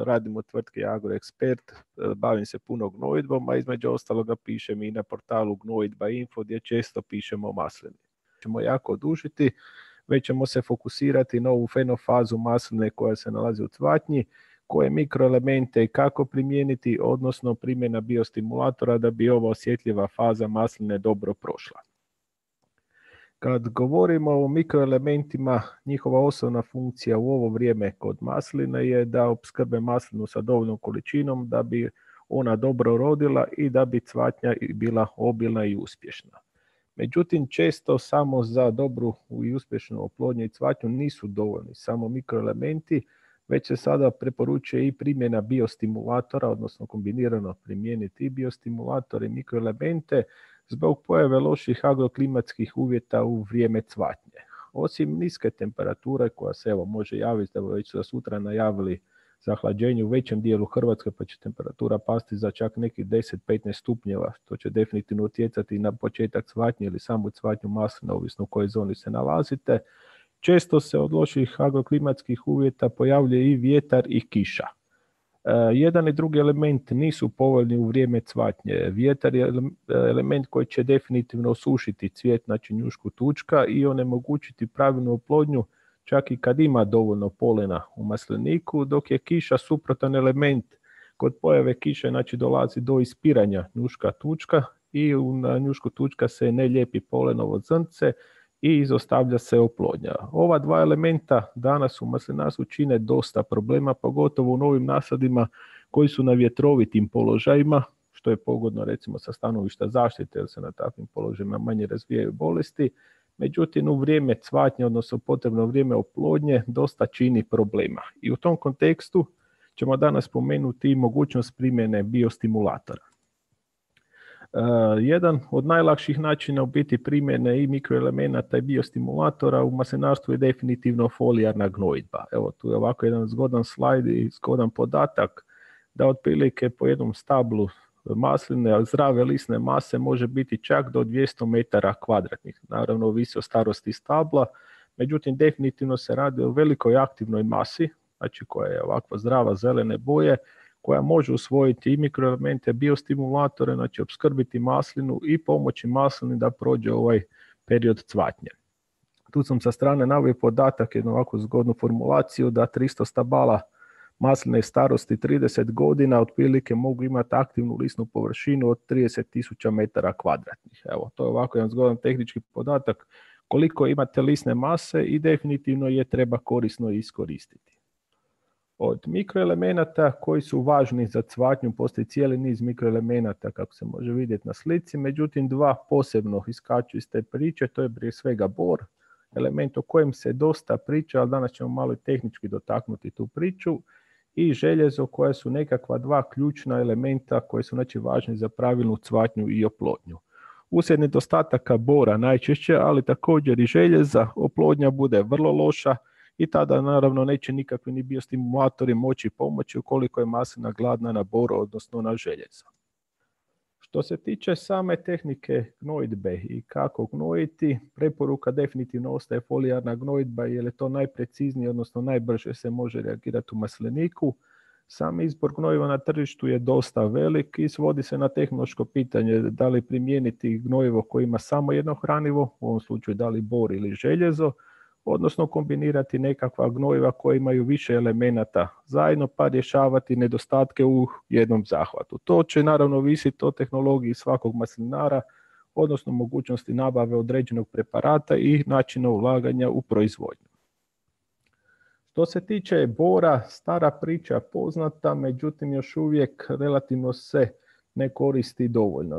Radim u tvrtki Agroekspert, bavim se puno gnojidbom, a između ostaloga pišem i na portalu Gnojidba Info gdje često pišemo o maslini. Ćemo jako odužiti. Već ćemo se fokusirati na ovu fenofazu masline koja se nalazi u cvatnji, koje mikroelemente i kako primijeniti, odnosno primjena biostimulatora da bi ova osjetljiva faza masline dobro prošla. Kad govorimo o mikroelementima, njihova osnovna funkcija u ovo vrijeme kod masline je da opskrbe maslinu sa dovoljnom količinom da bi ona dobro rodila i da bi cvatnja bila obilna i uspješna. Međutim, često samo za dobru i uspješnu oplodnju i cvatnju nisu dovoljni samo mikroelementi, već se sada preporučuje i primjena biostimulatora, odnosno kombinirano primijeniti i biostimulator i mikroelemente zbog pojave loših agroklimatskih uvjeta u vrijeme cvatnje. Osim niske temperature koja se evo može javiti, da već su sutra najavili zahlađenje u većem dijelu Hrvatske, pa će temperatura pasti za čak nekih deset do petnaest stupnjeva, što će definitivno utjecati na početak cvatnje ili samu cvatnju masline, ovisno u kojoj zoni se nalazite. Često se od loših agroklimatskih uvjeta pojavljuje i vjetar i kiša. E, jedan i drugi element nisu povoljni u vrijeme cvatnje. Vjetar je element koji će definitivno osušiti cvijet, znači njušku tučka, i onemogućiti pravilnu oplodnju čak i kad ima dovoljno polena u masliniku, dok je kiša suprotan element. Kod pojave kiše znači dolazi do ispiranja njuška tučka i u njušku tučka se ne lijepi polenovo zrnce i izostavlja se oplodnja. Ova dva elementa danas u maslinarstvu čine dosta problema, pogotovo u novim nasadima koji su na vjetrovitim položajima, što je pogodno recimo sa stanovišta zaštite, jer se na takvim položajima manje razvijaju bolesti. Međutim, u vrijeme cvatnje, odnosno potrebno vrijeme oplodnje, dosta čini problema. I u tom kontekstu ćemo danas spomenuti i mogućnost primjene biostimulatora. Uh, jedan od najlakših načina u biti primjene i mikroelemenata i biostimulatora u maslinarstvu je definitivno folijarna gnojidba. Evo tu je ovako jedan zgodan slajd i zgodan podatak da otprilike po jednom stablu masline, zdrave lisne mase može biti čak do dvjesto metara kvadratnih. Naravno, ovisi o starosti stabla, međutim definitivno se radi o velikoj aktivnoj masi, znači koja je ovakva zdrava zelene boje, koja može usvojiti i mikroelemente, biostimulatore, znači opskrbiti maslinu i pomoći maslini da prođe ovaj period cvatnje. Tu sam sa strane naveo podatak, jednu ovakvu zgodnu formulaciju, da tristo stabala masline starosti trideset godina otprilike mogu imati aktivnu lisnu površinu od trideset tisuća metara kvadratnih. Evo, to je ovako jedan zgodan tehnički podatak koliko imate lisne mase i definitivno je treba korisno iskoristiti. Od mikroelemenata koji su važni za cvatnju postoji cijeli niz mikroelemenata kako se može vidjeti na slici, međutim dva posebno iskaču iz te priče, to je prije svega bor, element o kojem se dosta priča, ali danas ćemo malo tehnički dotaknuti tu priču, i željezo koje su nekakva dva ključna elementa koji su znači važni za pravilnu cvatnju i oplodnju. Uslijed nedostataka bora najčešće, ali također i željeza, oplodnja bude vrlo loša i tada naravno neće nikakvi ni biostimulatori moći pomoći ukoliko je maslina gladna na bor, odnosno na željezo. Što se tiče same tehnike gnojidbe i kako gnojiti, preporuka definitivno ostaje folijarna gnojidba jer je to najpreciznije, odnosno najbrže se može reagirati u masliniku. Sam izbor gnojiva na tržištu je dosta velik i svodi se na tehnološko pitanje da li primijeniti gnojivo koje ima samo jedno hranivo, u ovom slučaju da li bor ili željezo, odnosno kombinirati nekakva gnojiva koja imaju više elemenata zajedno pa rješavati nedostatke u jednom zahvatu. To će naravno visiti o tehnologiji svakog maslinara, odnosno mogućnosti nabave određenog preparata i načina ulaganja u proizvodnju. Što se tiče bora, stara priča poznata, međutim još uvijek relativno se ne koristi dovoljno.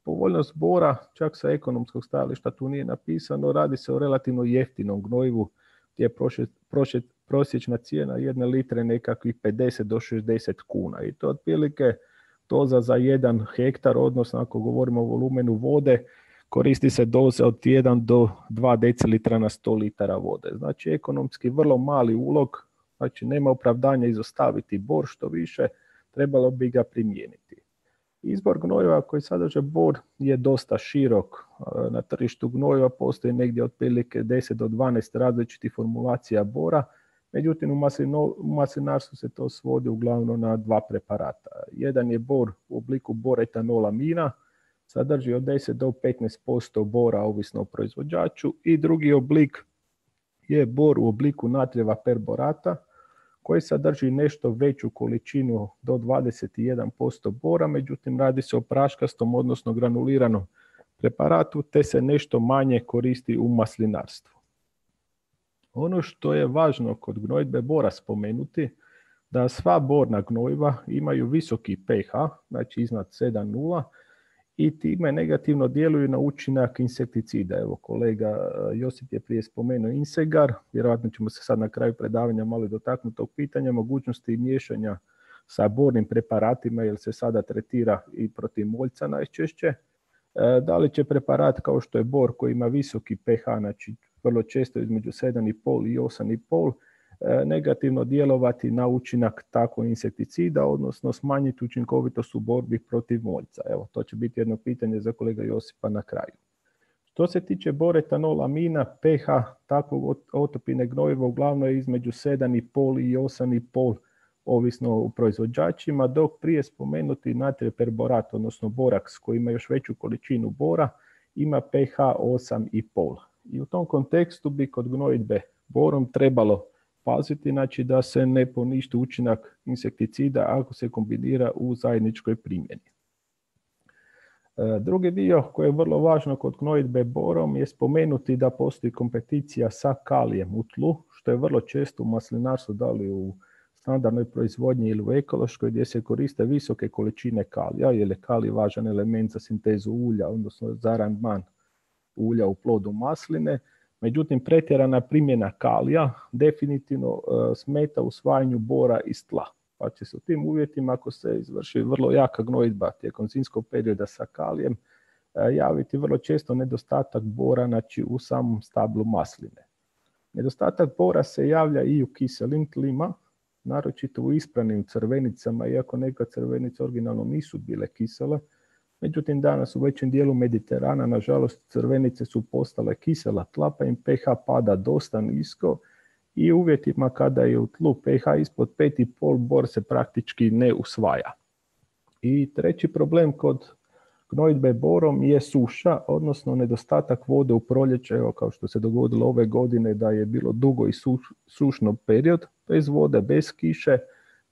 Povoljnost bora, čak sa ekonomskog stajališta tu nije napisano, radi se o relativno jeftinom gnojivu gdje je prošet, prošet, prosječna cijena jedne litre nekakvih pedeset do šezdeset kuna i to otprilike doza za jedan hektar, odnosno ako govorimo o volumenu vode, koristi se doza od jedan do dva decilitra na sto litara vode. Znači ekonomski vrlo mali ulog, znači nema opravdanja izostaviti bor, što više trebalo bi ga primijeniti. Izbor gnojiva koji sadrže bor je dosta širok. Na tržištu gnojiva postoji negdje otprilike deset do dvanaest različitih formulacija bora, međutim u, maslino, u maslinarstvu se to svodi uglavnom na dva preparata. Jedan je bor u obliku bor-etanolamina, sadrži od deset do petnaest posto bora ovisno o proizvođaču, i drugi oblik je bor u obliku natrijeva perborata koji sadrži nešto veću količinu do dvadeset jedan posto bora, međutim radi se o praškastom odnosno granuliranom preparatu te se nešto manje koristi u maslinarstvu. Ono što je važno kod gnojidbe bora spomenuti, da sva borna gnojiva imaju visoki pH, znači iznad sedam zarez nula, i time negativno djeluju na učinak insekticida. Evo, kolega Josip je prije spomenuo Insegar, vjerojatno ćemo se sad na kraju predavanja malo dotaknuti tog pitanja, mogućnosti miješanja sa bornim preparatima, jer se sada tretira i protiv moljca najčešće. Da li će preparat kao što je bor koji ima visoki pH, znači vrlo često između sedam zarez pet i osam zarez pet, negativno djelovati na učinak takvog insekticida, odnosno smanjiti učinkovitost u borbi protiv moljca. Evo, to će biti jedno pitanje za kolega Josipa na kraju. Što se tiče bor-etanolamina, pH takvog otopine gnojiva uglavnom je između sedam zarez pet i osam zarez pet, ovisno o proizvođačima, dok prije spomenuti natrijev perborat, odnosno boraks koji ima još veću količinu bora, ima pH osam zarez pet. I u tom kontekstu bi kod gnojidbe borom trebalo paziti, znači da se ne poništi učinak insekticida ako se kombinira u zajedničkoj primjeni. Drugi dio koji je vrlo važno kod gnojidbe borom je spomenuti da postoji kompeticija sa kalijem u tlu, što je vrlo često u maslinarstvu, da li u standardnoj proizvodnji ili u ekološkoj, gdje se koriste visoke količine kalija, jer je kalij važan element za sintezu ulja, odnosno za aranžman ulja u plodu masline. Međutim, pretjerana primjena kalija definitivno uh, smeta usvajanju bora iz tla. Pa će se u tim uvjetima, ako se izvrši vrlo jaka gnojidba tijekom zimskog perioda sa kalijem, uh, javiti vrlo često nedostatak bora, znači u samom stablu masline. Nedostatak bora se javlja i u kiselim tlima, naročito u ispranim crvenicama, iako neka crvenice originalno nisu bile kisele. Međutim, danas u većem dijelu Mediterana, nažalost, crvenice su postale kisela tla, pa im pH pada dosta nisko i u uvjetima kada je u tlu pH ispod pet zarez pet, bor se praktički ne usvaja. I treći problem kod gnojidbe borom je suša, odnosno nedostatak vode u proljeće, evo kao što se dogodilo ove godine da je bilo dugo i suš, sušno period, bez vode, bez kiše.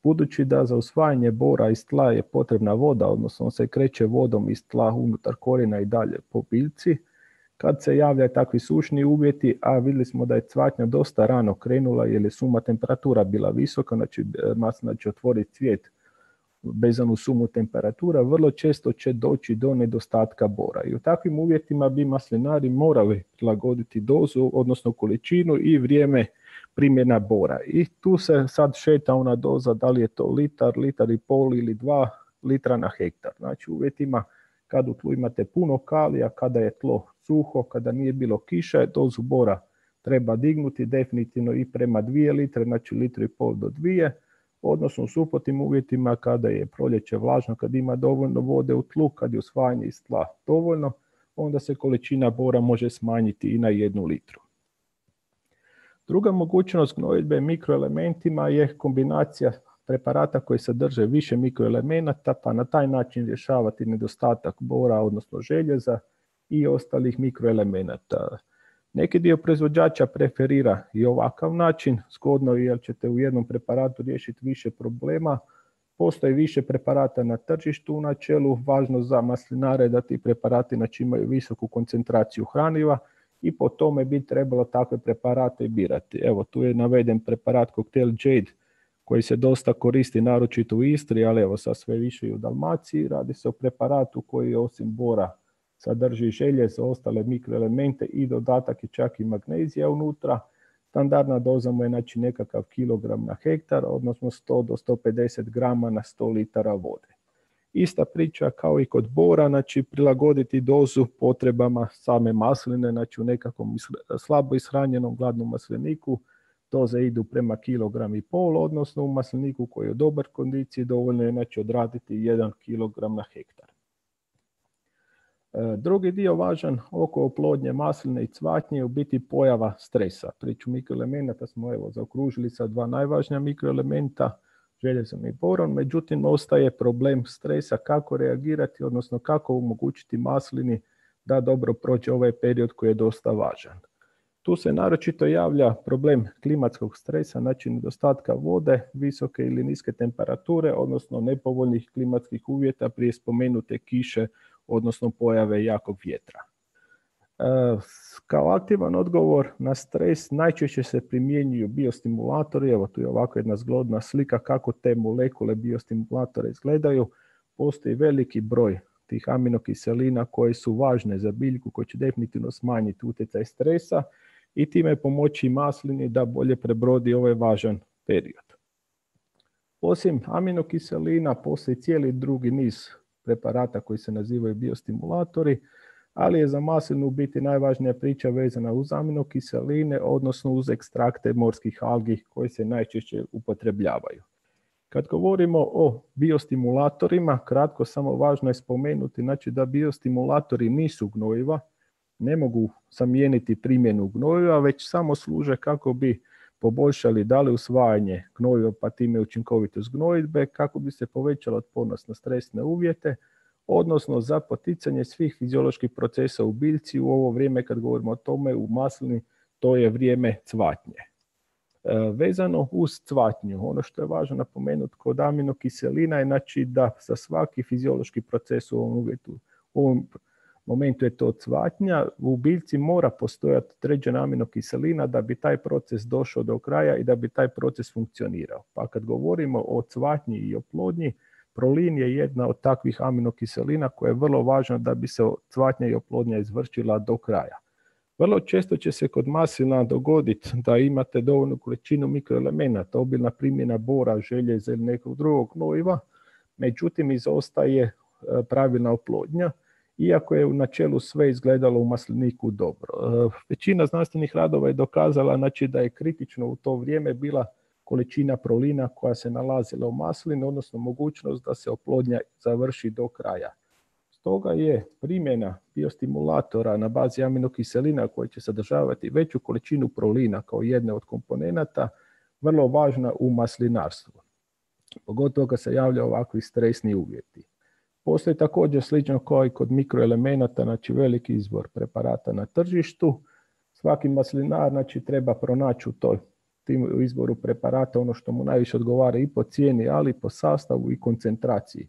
Budući da za usvajanje bora iz tla je potrebna voda, odnosno on se kreće vodom iz tla unutar korijena i dalje po biljci, kad se javljaju takvi sušni uvjeti, a vidjeli smo da je cvatnja dosta rano krenula jer je suma temperatura bila visoka, znači maslina će otvoriti cvijet vezano uz sumu temperatura, vrlo često će doći do nedostatka bora. I u takvim uvjetima bi maslinari morali prilagoditi dozu, odnosno količinu i vrijeme primjena bora. I tu se sad šeta ona doza, da li je to litar, litar i pol ili dva litra na hektar. Znači u uvjetima kad u tlu imate puno kalija, kada je tlo suho, kada nije bilo kiše, dozu bora treba dignuti definitivno i prema dvije litre, znači litru i pol do dvije, odnosno u suprotnim uvjetima kada je proljeće vlažno, kad ima dovoljno vode u tlu, kad je usvajanje iz tla dovoljno, onda se količina bora može smanjiti i na jednu litru. Druga mogućnost gnojidbe mikroelementima je kombinacija preparata koji sadrže više mikroelemenata, pa na taj način rješavati nedostatak bora, odnosno željeza i ostalih mikroelemenata. Neki dio proizvođača preferira i ovakav način, zgodno jer ćete u jednom preparatu riješiti više problema. Postoji više preparata na tržištu u načelu, važno za maslinare da ti preparati znači imaju visoku koncentraciju hraniva i po tome bi trebalo takve preparate birati. Evo, tu je naveden preparat koktel Jade koji se dosta koristi naročito u Istri, ali evo sad sve više i u Dalmaciji. Radi se o preparatu koji osim bora sadrži željezo, ostale mikroelemente i dodatak je čak i magnezija unutra. Standardna doza mu je znači nekakav kilogram na hektar, odnosno sto do sto pedeset grama na sto litara vode. Ista priča kao i kod bora, znači prilagoditi dozu potrebama same masline, znači u nekakvom slabo ishranjenom gladnom masliniku doze idu prema kilogram i pol, odnosno u masliniku koji je u dobar kondiciji dovoljno je znači odraditi jedan kilogram na hektar. Drugi dio važan oko oplodnje masline i cvatnje je u biti pojava stresa. Priču mikroelemenata smo evo zaokružili sa dva najvažnija mikroelementa, željezom i boron, međutim ostaje problem stresa, kako reagirati, odnosno kako omogućiti maslini da dobro prođe ovaj period koji je dosta važan. Tu se naročito javlja problem klimatskog stresa, znači nedostatka vode, visoke ili niske temperature, odnosno nepovoljnih klimatskih uvjeta prije spomenute kiše, odnosno pojave jakog vjetra. E, kao aktivan odgovor na stres najčešće se primjenjuju biostimulatori. Evo tu je ovako jedna zgodna slika kako te molekule biostimulatora izgledaju. Postoji veliki broj tih aminokiselina koje su važne za biljku, koje će definitivno smanjiti utjecaj stresa i time pomoći maslini da bolje prebrodi ovaj važan period. Osim aminokiselina postoji cijeli drugi niz preparata koji se nazivaju biostimulatori, ali je za maslinu u biti najvažnija priča vezana uz aminokiseline, odnosno uz ekstrakte morskih algi koji se najčešće upotrebljavaju. Kad govorimo o biostimulatorima, kratko samo važno je spomenuti znači da biostimulatori nisu gnojiva, ne mogu zamijeniti primjenu gnojiva, već samo služe kako bi poboljšali da li usvajanje gnojiva pa time učinkovitost gnojidbe, kako bi se povećala otpornost na stresne uvjete, odnosno za poticanje svih fizioloških procesa u biljci u ovo vrijeme kad govorimo o tome u maslini, to je vrijeme cvatnje. E, vezano uz cvatnju, ono što je važno napomenuti kod aminokiselina je znači da za svaki fiziološki proces u ovom uvjetu, u ovom momentu je to cvatnja, u biljci mora postojati određena aminokiselina da bi taj proces došao do kraja i da bi taj proces funkcionirao. Pa kad govorimo o cvatnji i oplodnji, prolin je jedna od takvih aminokiselina koja je vrlo važna da bi se cvatnja i oplodnja izvršila do kraja. Vrlo često će se kod maslina dogoditi da imate dovoljnu količinu mikroelemenata, obilna primjena bora, željeza ili nekog drugog gnojiva, međutim izostaje pravilna oplodnja, iako je u načelu sve izgledalo u masliniku dobro. Većina znanstvenih radova je dokazala znači, da je kritično u to vrijeme bila količina prolina koja se nalazila u maslini, odnosno mogućnost da se oplodnja završi do kraja. Stoga je primjena biostimulatora na bazi aminokiselina koji će sadržavati veću količinu prolina kao jedne od komponenata vrlo važna u maslinarstvu. Pogotovo kad se javlja ovakvi stresni uvjeti. Postoji također slično kao i kod mikroelemenata, znači veliki izbor preparata na tržištu. Svaki maslinar znači, treba pronaći u toj tim izboru preparata ono što mu najviše odgovara i po cijeni, ali i po sastavu i koncentraciji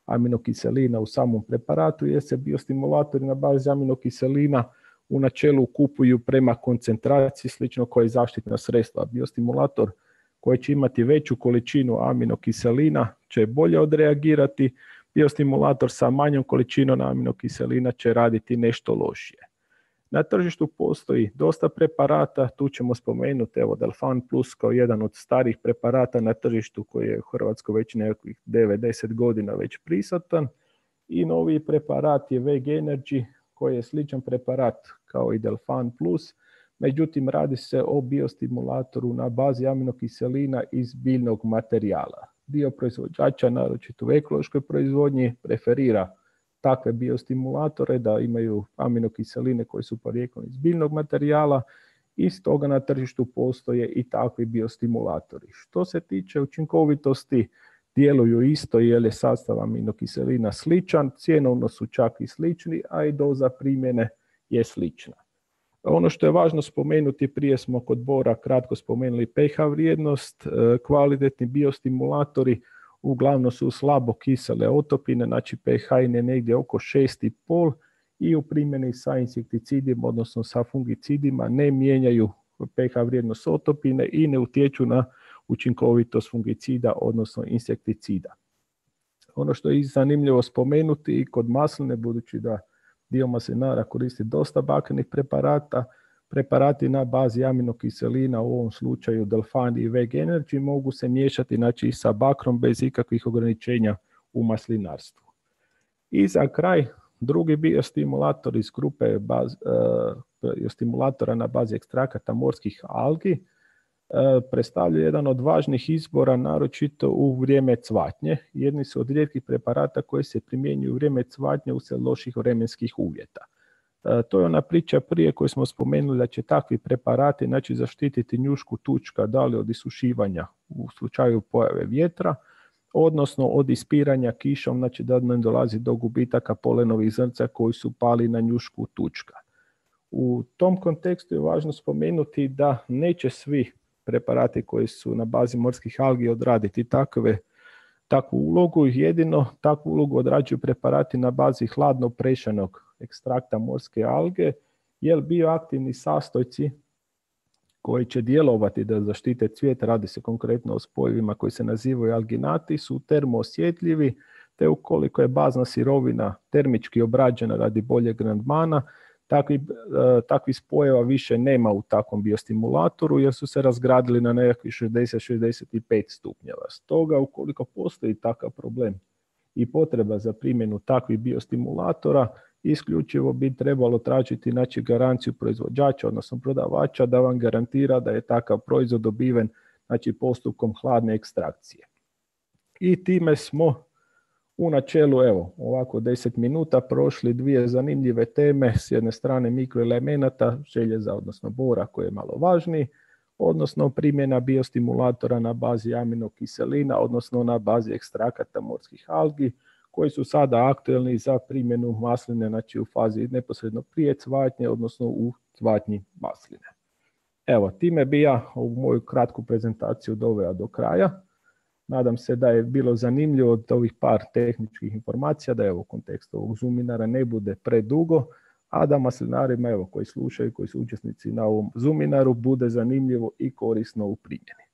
aminokiselina u samom preparatu, jer se biostimulatori na bazi aminokiselina u načelu kupuju prema koncentraciji, slično kao i zaštitna sredstva. Biostimulator koji će imati veću količinu aminokiselina će bolje odreagirati, biostimulator sa manjom količinom aminokiselina će raditi nešto lošije. Na tržištu postoji dosta preparata, tu ćemo spomenuti evo Delfan Plus kao jedan od starih preparata na tržištu koji je u Hrvatskoj već nekakvih devet do deset godina već prisutan i novi preparat je Veg Energy koji je sličan preparat kao i Delfan Plus, međutim radi se o biostimulatoru na bazi aminokiselina iz biljnog materijala. Dio proizvođača, naročito u ekološkoj proizvodnji, preferira takve biostimulatore da imaju aminokiseline koje su porijeklom iz biljnog materijala i stoga na tržištu postoje i takvi biostimulatori. Što se tiče učinkovitosti, djeluju isto jer je sastav aminokiselina sličan, cjenovno su čak i slični, a i doza primjene je slična. Ono što je važno spomenuti, prije smo kod bora kratko spomenuli pH vrijednost, kvalitetni biostimulatori uglavnom su slabo kisele otopine, znači pH je negdje oko šest i pol i u primjeni sa insekticidima, odnosno sa fungicidima, ne mijenjaju pH vrijednost otopine i ne utječu na učinkovitost fungicida, odnosno insekticida. Ono što je zanimljivo spomenuti i kod masline, budući da dio maslinara koristi dosta bakrenih preparata, preparati na bazi aminokiselina, u ovom slučaju Delfani i Veg Energy, mogu se miješati znači, i sa bakrom bez ikakvih ograničenja u maslinarstvu. I za kraj, drugi biostimulator iz grupe baz, uh, stimulatora na bazi ekstrakata morskih algi uh, predstavlja jedan od važnih izbora, naročito u vrijeme cvatnje. Jedni su od rijetkih preparata koji se primjenjuju u vrijeme cvatnje uslijed loših vremenskih uvjeta. Uh, to je ona priča prije koju smo spomenuli da će takvi preparati znači, zaštititi njušku tučka da li od isušivanja u slučaju pojave vjetra, odnosno od ispiranja kišom, znači da ne dolazi do gubitaka polenovih zrnca koji su pali na njušku tučka. U tom kontekstu je važno spomenuti da neće svi preparati koji su na bazi morskih algi odraditi takve, takvu ulogu, jedino takvu ulogu odrađuju preparati na bazi hladno prešanog ekstrakta morske alge, jer bioaktivni sastojci koji će djelovati da zaštite cvijet, radi se konkretno o spojevima koji se nazivaju alginati, su termoosjetljivi, te ukoliko je bazna sirovina termički obrađena radi boljeg rendmana, takvi, e, takvi spojeva više nema u takvom biostimulatoru jer su se razgradili na nekakvih šezdeset do šezdeset pet stupnjeva. Stoga, ukoliko postoji takav problem i potreba za primjenu takvih biostimulatora, isključivo bi trebalo tražiti znači, garanciju proizvođača, odnosno prodavača, da vam garantira da je takav proizvod dobiven znači, postupkom hladne ekstrakcije. I time smo u načelu, evo, ovako deset minuta prošli dvije zanimljive teme, s jedne strane mikroelemenata, željeza, odnosno bora koji je malo važniji, odnosno primjena biostimulatora na bazi aminokiselina, odnosno na bazi ekstrakata morskih algi, koji su sada aktualni za primjenu masline, znači u fazi neposredno prije cvatnje, odnosno u cvatnji masline. Evo, time bi ja ovu moju kratku prezentaciju doveo do kraja. Nadam se da je bilo zanimljivo od ovih par tehničkih informacija, da je u kontekstu ovog Zoominara ne bude predugo, a da maslinarima evo, koji slušaju, koji su učesnici na ovom Zoominaru, bude zanimljivo i korisno u primjeni.